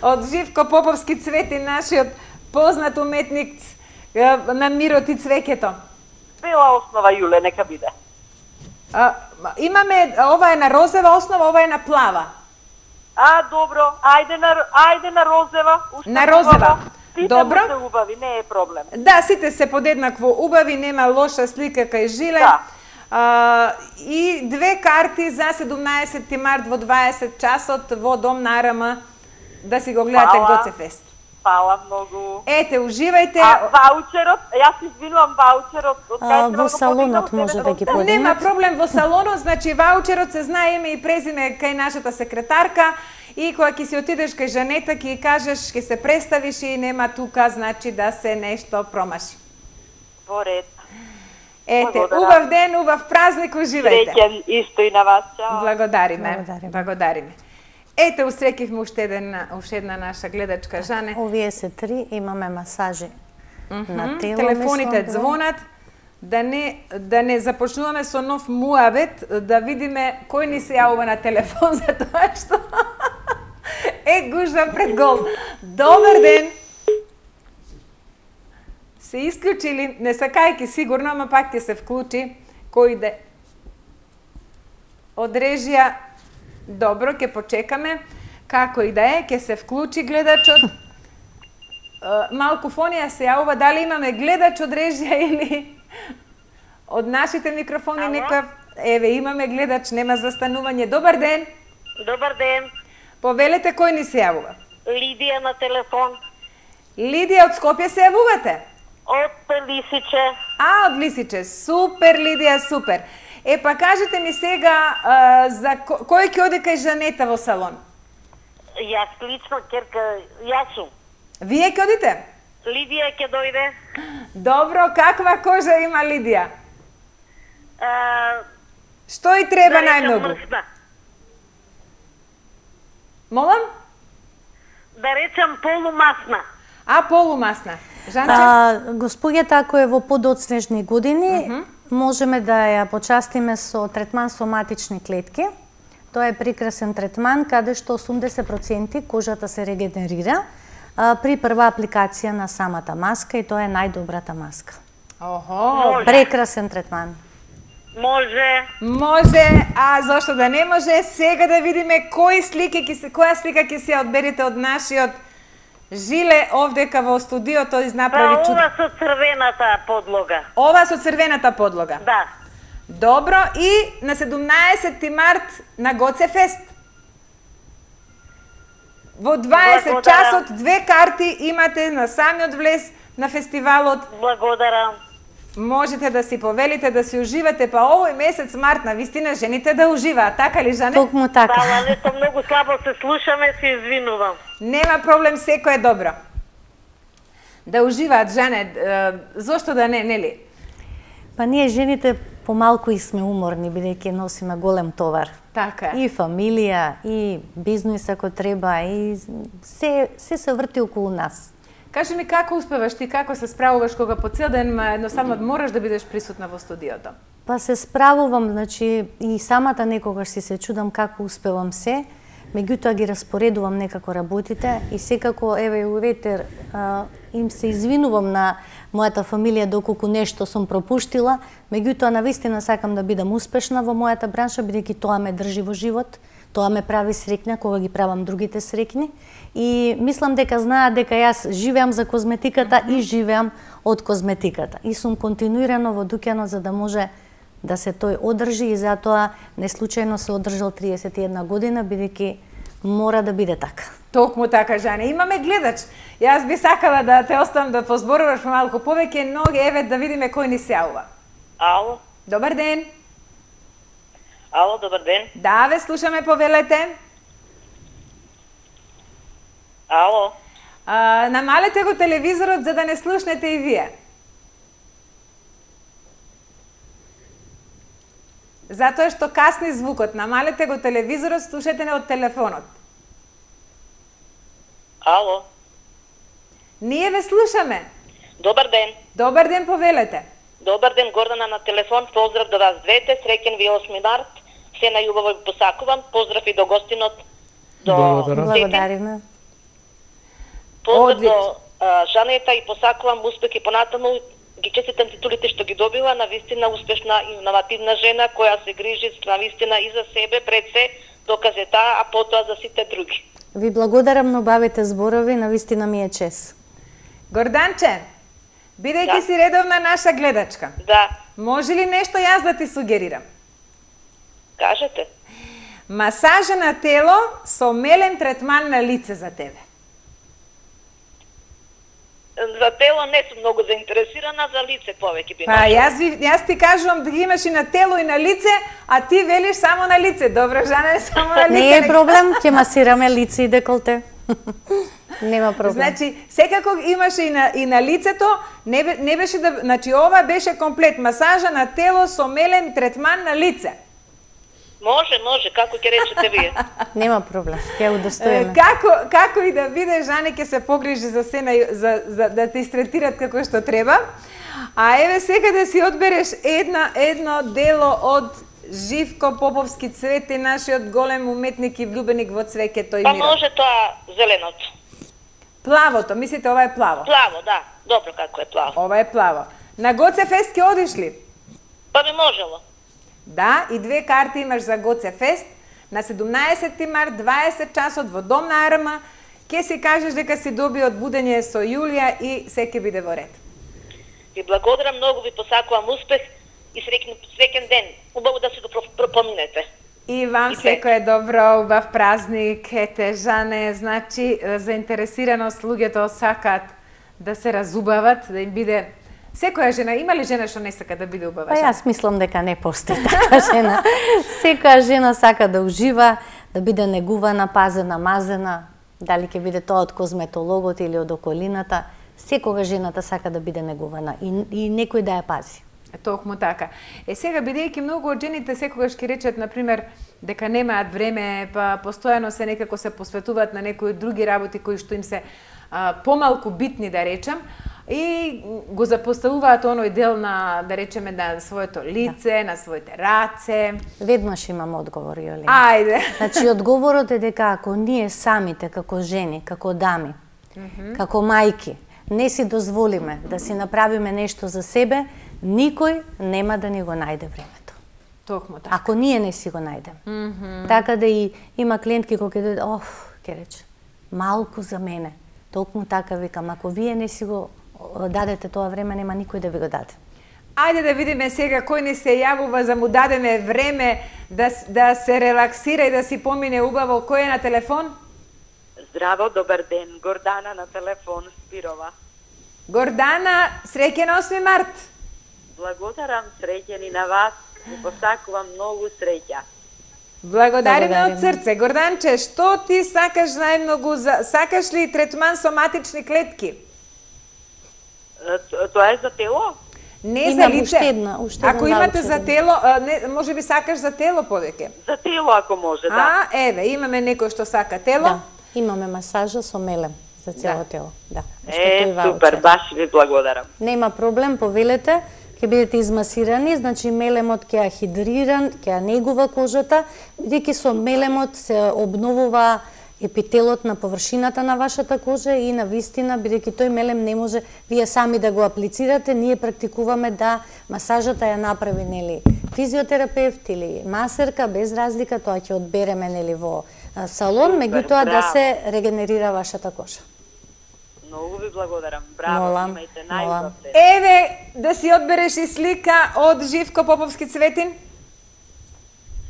Од Живко Поповски Цвети, нашиот познат уметник е, на мирот и цвеќето. Бела основа, Јуле, нека биде. А, имаме, ова е на розева основа, ова е на плава. А, добро, ајде на, ајде на розева. Уште На розева. убаво. Сите Добро. му се убави, не е проблем. Да, сите се подеднакво убави, нема лоша слика кај Жиле. Да. А, и две карти за седумнаесети март во дваесет часот во Дом на АРМ да си го гледате Фала. Гоцефест. Фала многу. Ете, уживајте. А ваучерот, јас се извинувам, ваучерот од А, кај во салонот може да ги Нема подигнат. проблем во салонот, значи ваучерот се знае име и презиме кај нашата секретарка и кога ќе си отидеш кај Жанета ќе ја кажеш, ќе се представиш и нема тука значи да се нешто промаши. Во ред. Ете, Благодарам. убав ден, убав празник, уживајте. Среќен исто и на вас. Чао. Благодариме. Благодариме. Благодариме. Ете, усрекивме уште еден уште една наша гледачка Жане. Овие се три, имаме масажи на тело. Телефоните мислам, звонат. Да не да не започнуваме со нов муабет, да видиме кој ни се јавува на телефон за тоа што е гужва пред гол. Добар ден. Се исклучили, не сакајки сигурно, ама пак ќе се вклучи кој иде. Од режија, добро, ќе почекаме. Како и да е, ќе се вклучи гледачот. Е, Малку фонија се јавува, дали имаме гледач од режија или од нашите микрофони некој? Еве, имаме гледач, нема застанување. Добар ден. Добар ден. Повелете кој ни се јавува. Лидија на телефон. Лидија од Скопје се јавувате? Од Лисиче. А, од Лисиче. Супер, Лидија, супер. Е, па кажете ми сега, а, за ко- кој ќе оде кај Жанета во салон? Јас лично, керка, јас сум. Вие ќе одите? Лидија ќе дојде. Добро, каква кожа има Лидија? А, Што и треба да речам најмногу? мрсна. Молам? Да речам полумасна. А, полумасна. Жанче? А, госпоѓата, ако е во подоцнежни години, можеме да ја почастиме со третман со матични клетки. Тоа е прекрасен третман каде што осумдесет проценти кожата се регенерира а, при прва апликација на самата маска и тоа е најдобрата маска. Охо, Може. Прекрасен третман. Може. може, а зошто да не може? Сега да видиме кои слики ќе се, која слика ќе се ја одберете од нашиот Жиле овдека во студиото Па изнаправи чудо. ова со црвената подлога. Ова со црвената подлога. Да. Добро, и на седумнаесети март на Гоцефест. Во дваесет Благодарам. часот две карти имате на самиот влез на фестивалот. Благодарам. Можете да си повелите, да си уживате, па овој месец март на вистина жените да уживаат, така ли, Жане? Токму така. Фала, нешто многу слабо се слушаме, се извинувам. Нема проблем, секој е добро. Да уживаат, Жане, е, зошто да не, нели? Па ние жените помалку и сме уморни, бидејќи носиме голем товар. Така е. И фамилија, и бизнис ако треба, и се, се се врти околу нас. Кажи ми како успеваш ти, како се справуваш кога по цел ден ма, едноставно мораш да бидеш присутна во студиото? Па се справувам, значи и самата некогаш си се чудам како успевам се, меѓутоа ги распоредувам некако работите и секако, еве, у ветер, а, им се извинувам на мојата фамилија доколку нешто сум пропуштила, меѓутоа навистина сакам да бидам успешна во мојата бранша, бидејќи тоа ме држи во живот, тоа ме прави среќна кога ги правам другите среќни и мислам дека знаат дека јас живеам за козметиката и живеам од козметиката и сум континуирано во дуќанот за да може да се тој одржи и затоа не случајно се одржал триесет и една година, бидејќи мора да биде така. Токму така, Жане. Имаме гледач. Јас би сакала да те оставам да позборуваш малку повеќе, но еве да видиме кој ни се јавува. Ало, Добар ден. ало, добар ден. Да, ве слушаме, повелете. Ало, А, намалете го телевизорот за да не слушнете и вие. Затоа што касни звукот. Намалете го телевизорот, слушате не од телефонот. ало, Ние ве слушаме. Добар ден. Добар ден, повелете. Добар ден, Гордана на телефон. Поздрав до вас двете. Среќен ви осми март. Се најубаво ви посакувам. Поздрав и до гостинот. До Благодариме. Поздрав Одли... до а, Жанета и посакувам успех и понатаму. Ги честитам титулите што ги добила, на вистина успешна и инновативна жена која се грижи на вистина и за себе пред се, доказе таа, а потоа за сите други. Ви благодарам на убавите зборови, на вистина ми е чест. Горданче, бидејќи да? си редовна наша гледачка. Да. Може ли нешто јас да ти сугерирам? Кажете. Масажа на тело со мелем третман на лице за тебе. За тело не сум многу заинтересирана, за лице повеќе би. Па јас, ви, јас ти кажувам да ги имаш и на тело и на лице, а ти велиш само на лице. Добро, Жане, само на лице. Не е проблем, ќе масираме лице и деколте. Нема проблем. Значи, секако имаше и на, и на лицето, не, не беше да... Значи, ова беше комплет. Масажа на тело со мелем третман на лице. Може, може, како ќе речете вие. Нема проблем, ќе удостоиме. Како, како и да биде, Жане ќе се погрижи за се, за, за, да те истретират како што треба. А еве сега да си одбереш една, едно дело од Живко Поповски Цвети, нашиот голем уметник и влюбеник во цвеќето и мира. мира. Па може тоа зеленото. Плавото, мислите ова е плаво? Плаво, да. Добро како е плаво. Ова е плаво. На Гоце Фест ќе одиш ли? Па би можело. Да, и две карти имаш за Гоце Фест. На седумнаесети март, дваесет часот во Дом на Арма. Ке си кажеш дека си доби од будење со Јулија и се ќе биде во ред. Ви благодарам многу, ви посакувам успех и среќен, среќен ден. Убаво да си го пропоминете. И вам секој добро, убав празник. Ете, Жане, значи, заинтересираност, луѓето сакаат да се разубават, да им биде... Секоја жена, има ли жена што не сака да биде убава? Па јас мислам дека не постои така жена. Секоја жена сака да ужива, да биде негувана, пазена, мазена, дали ќе биде тоа од козметологот или од околината. Секога жената сака да биде негувана и, и некој да ја пази. Токму така. Е сега, бидејќи многу од жените секогаш ќе речат, например, дека немаат време, па постојано се некако се посветуваат на некои други работи кои што им се а, помалку битни, да речам, и го запоставуваат оној дел на, да речеме, на своето лице, да. На своите раце. Веднаш имам одговор, Јолина. Ајде. Значи, одговорот е дека ако ние самите, како жени, како дами, mm -hmm. како мајки, не си дозволиме да си направиме нешто за себе, никој нема да ни го најде времето. Токму така. Ако ние не си го најдем. Mm -hmm. Така да и има клиентки кои ќе дојдат, оф, ќе рече, малку за мене. Токму така викам, ако вие не си го дадете тоа време, нема никој да ви го даде. Ајде да видиме сега кој не се јавува за му дадеме време да, да се релаксира и да си помине убаво. Кој е на телефон? Здраво, добар ден. Гордана на телефон, Спирова. Гордана, среќен осми март. Благодарам, среќен и на вас. Ви посакувам многу среќа. Благодариме од срце. Горданче, што ти сакаш најмногу? За... Сакаш ли третман со матични клетки? Тоа е за тело? Не Имам за лице. Уште една, уште ако имате за тело, не, може би сакаш за тело повеќе. За тело ако може, да. А, еве, имаме некој што сака тело. Да, имаме масажа со мелем за цело да. Тело. Да. Е, супер, баш ви благодарам. Нема проблем, повелете, ќе бидете измасирани, значи мелемот ќе ја хидрира, ќе ја негува кожата, бидејќи со мелемот се обновува епителот на површината на вашата кожа и на вистина, бидејќи тој мелем не може вие сами да го аплицирате, ние практикуваме да масажата ја направи, нели, физиотерапевт или масерка, без разлика, тоа ќе одбереме, нели, во салон, меѓутоа да се регенерира вашата кожа. Многу ви благодарам. Браво, молам, имајте најубав ден. Еве, да си одбереш и слика од Живко Поповски Цветин.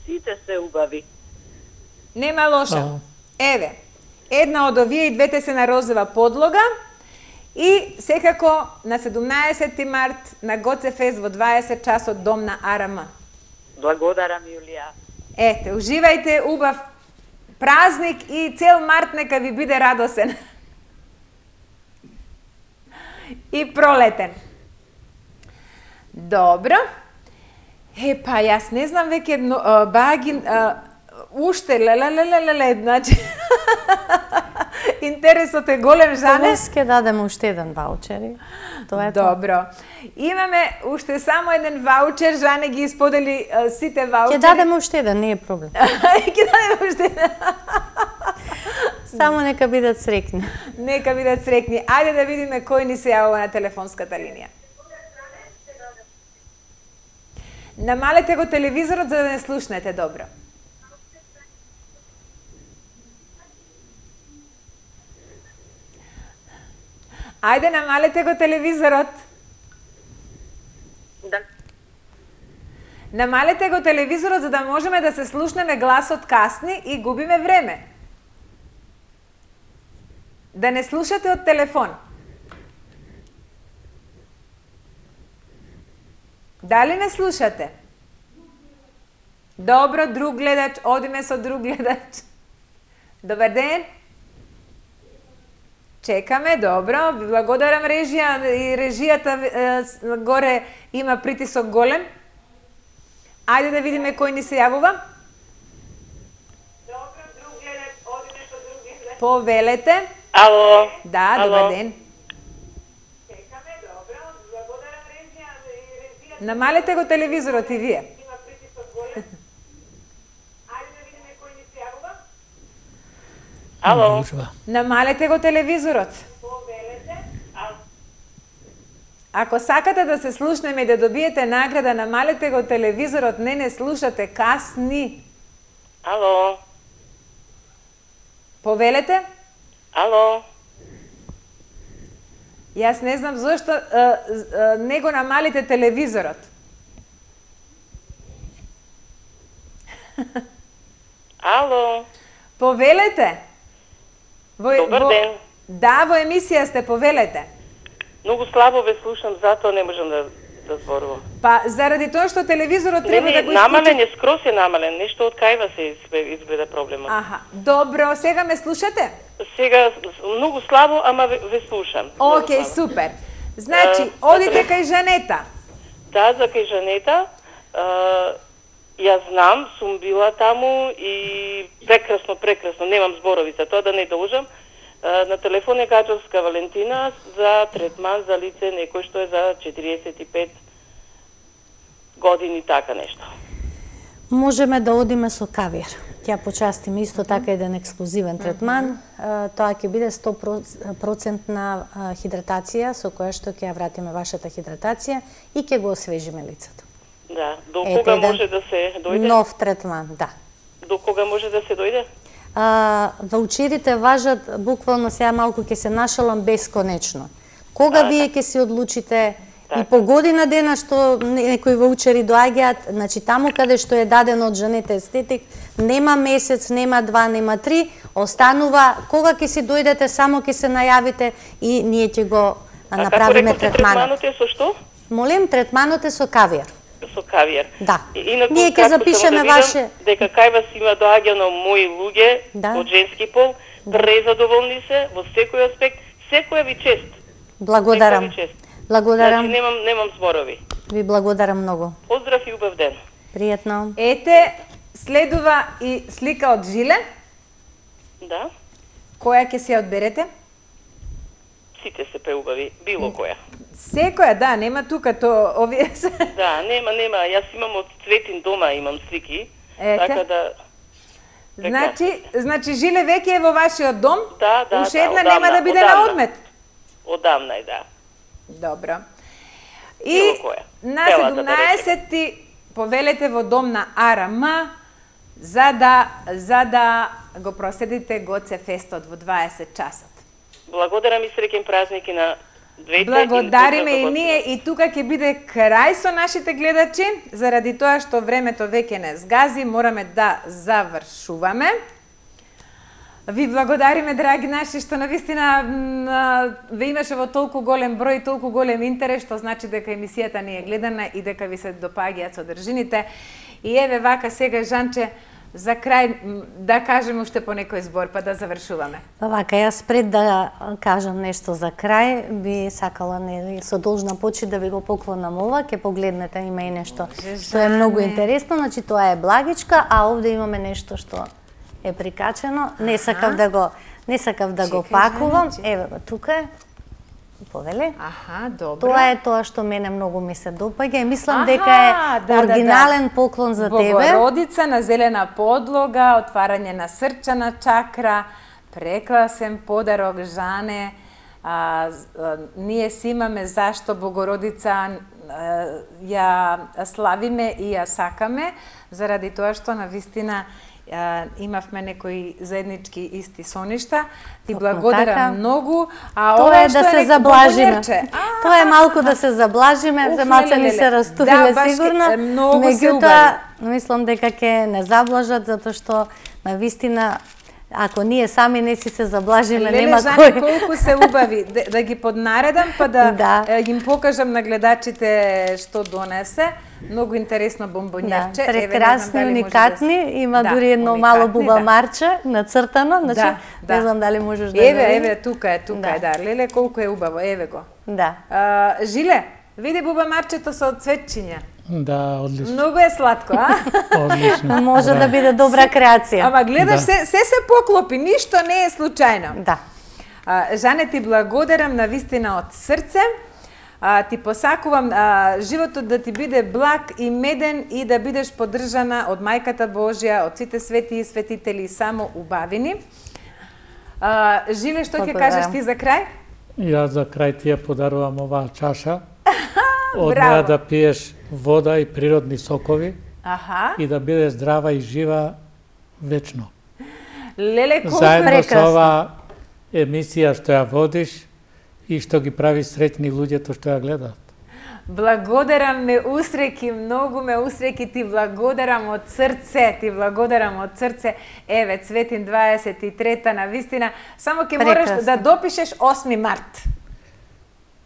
Сите се убави. Нема лоша. Еве, една од овие и двете се на розова подлога и секако на седумнаесети март на Гоце Фест во дваесет часот Дом на Арама. Благодарам, Јулија. Ете, уживајте, убав празник и цел март нека ви биде радосен. И пролетен. Добро. Е, па јас не знам веќе багин... Уште, леле, леле, леле, значи... Интересот е голем, Жане. Помис ќе дадем уште еден ваучер. Тоа е Добро. Имаме уште само еден ваучер, Жане ги исподели а, сите ваучери. Ќе дадем уште еден, не е проблем. Ќе дадем уште еден. Само нека бидат среќни. Нека бидат среќни. Ајде да видиме кој ни се јавува на телефонската линија. Намалете го телевизорот за да не слушнете добро. Ајде, намалете го телевизорот. Да. Намалете го телевизорот за да можеме да се слушнеме гласот касни и губиме време. Да не слушате од телефон. Дали не слушате? Добро, друг гледач, одиме со друг гледач. Добар ден. Чекаме, добро. Ви благодарам, режија. И режијата е, горе има притисок голем. Ајде да видиме кој ни се јавува. Добро, друг гледач, одиме со друг гледач. Повелете. Ало. Да, Ало. добар ден. Чекаме, добро. Благодарам, режија. И режијата... Намалете го телевизорот и вие. Има притисок голем. Ајде да видиме кој ни се јавува. Ало. Намалете го телевизорот. Ако сакате да се слушнеме и да добиете награда, намалете го телевизорот, не не слушате касни. Ало. Повелете? Ало. Јас не знам зошто а, а, не го намалите телевизорот. Ало. Повелете? Во, Добар во, ден. Да, во емисија сте, повелете. Многу слабо ве слушам, затоа не можам да да зборувам. Па заради тоа што телевизорот Не, треба не, да го намален исклучи. е, скрос е намален. Нешто од кајва се изгледа, изгледа проблемот. Аха, добро, сега ме слушате? Сега многу слабо, ама ве, ве слушам. Океј, супер. Значи, А, одите добре. кај Жанета. Да, за кај Жанета. А, ја знам, сум била таму и прекрасно, прекрасно. Немам зборови за тоа, да не должам. А, на телефон е Гаџовска Валентина за третман за лице некој што е за четириесет и пет години, така нешто. Можеме да одиме со кавиер. Ќе почастиме исто така еден ексклузивен третман. А, Тоа ќе биде сто проценти хидратација со која што ќе ја вратиме вашата хидратација и ќе го освежиме лицето. Да, до Ете кога еден може да се дојде? Нов третман, да. До кога може да се дојде? А, ваучерите важат, буквално сега малку ќе се нашалам, бесконечно. Кога А, вие ќе се одлучите Така. и по година дена што некои ваучери доаѓаат, значи таму каде што е дадено од Жанета Естетик, нема месец, нема два, нема три, останува кога ќе си дојдете, само ќе се најавите и ние ќе го а, направиме третманот. Третманот е со што? Молим, третманот е со кавиер. Со кавиер. Да. И, инаку, Ние ќе како запишеме само да видам, ваше... дека кај вас има доаѓано мои луѓе Да. од женски пол, презадоволни се во секој аспект, секоја ви чест. Благодарам. Секоја ви чест. Благодарам. Значи немам немам зборови. Ви благодарам многу. Поздрав и убав ден. Пријатно. Ете, следува и слика од Жиле. Да. Која ќе се ја одберете? Сите се преубави, било која. Секоја, да, нема тука то овие се. Да, нема, нема. Јас имам од Цветин дома, имам слики. Ете. Така да... Значи, значи Жиле веќе е во вашиот дом? Да, да, Уште да, една одамна, нема да биде одамна. на одмет. Одамна е, да. Добро. И Било која. на Целата, да седумнаесети повелете во дом на АРМ за да за да го проследите Гоце фестот во дваесет часот. Благодарам и среќен празник и на двете. Благодариме и на ние и тука ќе биде крај со нашите гледачи, заради тоа што времето веќе не сгази, мораме да завршуваме. Ви благодариме, драги наши, што навистина м, ве имаше во толку голем број, толку голем интерес, што значи дека емисијата ни е гледана и дека ви се допаѓаат содржините. И еве вака сега, Жанче, за крај м, да кажеме уште по некој збор, па да завршуваме. Па вака, јас пред да кажам нешто за крај, би сакала нели со должна почит да ви го поклонам ова, ќе погледнете, има и нешто што е многу интересно, значи тоа е благичка, а овде имаме нешто што е прикачено, не сакав да го не сакав да го Чекај, пакувам. Жани, Еве го тука е. Повели? Аха, добро. Тоа е тоа што мене многу ми се допаѓа и мислам Аха, дека е да, оригинален да, да. поклон за тебе. Богородица на зелена подлога, отварање на срчана чакра, прекрасен подарок, Жане. А, а, ние си имаме зашто Богородица а, ја славиме и ја сакаме, заради тоа што навистина а, имавме некои заеднички исти соништа. Ти благодарам така. многу. А Тоа ова е да што се некој заблажиме. бомбонерче. Тоа е малку да се заблажиме, Уф, земаца ни леле, се леле. растуриле Да, баш сигурно. ке- многу се Меѓутоа, мислам дека ќе не заблажат затоа што навистина ако ние сами не си се заблажиме, Леле, нема Жане, кој. колку се убави. Да, да ги поднаредам, па да, Да. е, им покажам на гледачите што донесе. Многу интересно Да, бомбонјерче. Еве, не знам прекрасни, дали може уникатни, да... има Да, дури едно уникатни, мало буба да. марче нацртано, значи Да, да. не знам дали можеш да Еве, го видиш. еве, тука е, тука Да. е, да. Леле, колку е убаво, еве го. Да. А, Жиле, види буба марчето со цветчиња. Да, одлично. Многу е сладко, а? Одлично. Може да биде добра креација. Ама гледаш, Да. се, се се поклопи, ништо не е случајно. Да. А, Жане, ти благодарам на вистина од срце. А, ти посакувам а, животот да ти биде благ и меден и да бидеш поддржана од Мајката Божја, од сите свети и светители, само убавини. А, Жиле, што ќе Благодарам. кажеш ти за крај? Јас за крај ти ја подарувам оваа чаша. Од Браво. неа да пиеш вода и природни сокови Аха. и да бидеш здрава и жива вечно. Леле, колку Заедно е со оваа емисија што ја водиш и што ги прави среќни луѓето што ја гледаат. Благодарам, ме усреки, многу ме усреки, ти благодарам од срце, ти благодарам од срце. Еве, Цветин дваесет и трета, на вистина, само ќе мораш Прекрасно. да допишеш осми март.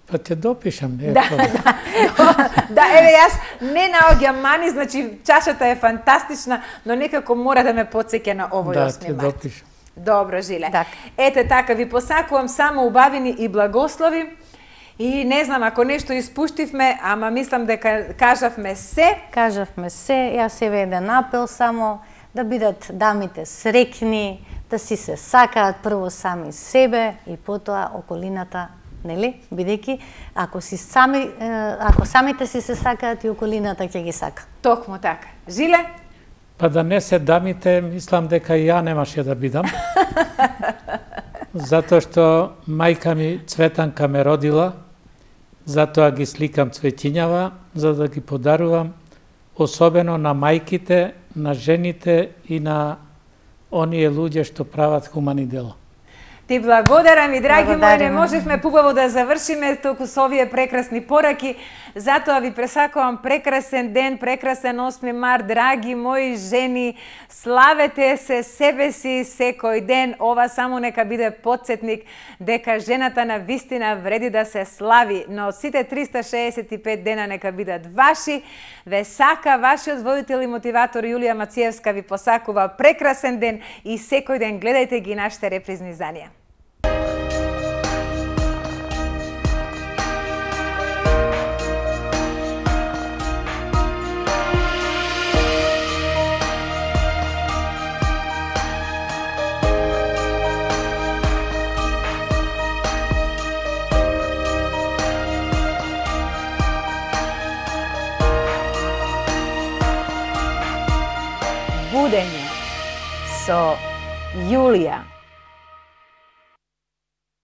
Па те допишам, не е Да, проблем. да, да, еве, јас не наоѓам мани, значи чашата е фантастична, но некако мора да ме потсеќа на овој Да, осми те март. допишам. Добро, Жиле. Така. Ете така, ви посакувам само убавини и благослови. И не знам, ако нешто испуштивме, ама мислам дека кажавме се. Кажавме се, јас еве еден апел само да бидат дамите среќни, да си се сакаат прво сами себе и потоа околината, нели? Бидејќи ако си сами е, ако самите си се сакаат и околината ќе ги сака. Токму така. Жиле? Па да не се дамите, мислам дека и ја немаше да бидам. Затоа што мајка ми Цветанка ме родила, затоа ги сликам цветињава, за да ги подарувам, особено на мајките, на жените и на оние луѓе што прават хумани дела. Ти благодарам и драги мои, не Благодариме. можевме побаво да завршиме толку со овие прекрасни пораки. Затоа ви пресакувам прекрасен ден, прекрасен осми март, драги мои жени. Славете се себе си секој ден. Ова само нека биде потсетник дека жената на вистина вреди да се слави. Но сите триста шеесет и пет дена нека бидат ваши. Ве сака вашиот водител и мотиватор Јулија Мациевска ви посакува прекрасен ден и секој ден гледајте ги нашите репризни изданија. Будење со Јулија.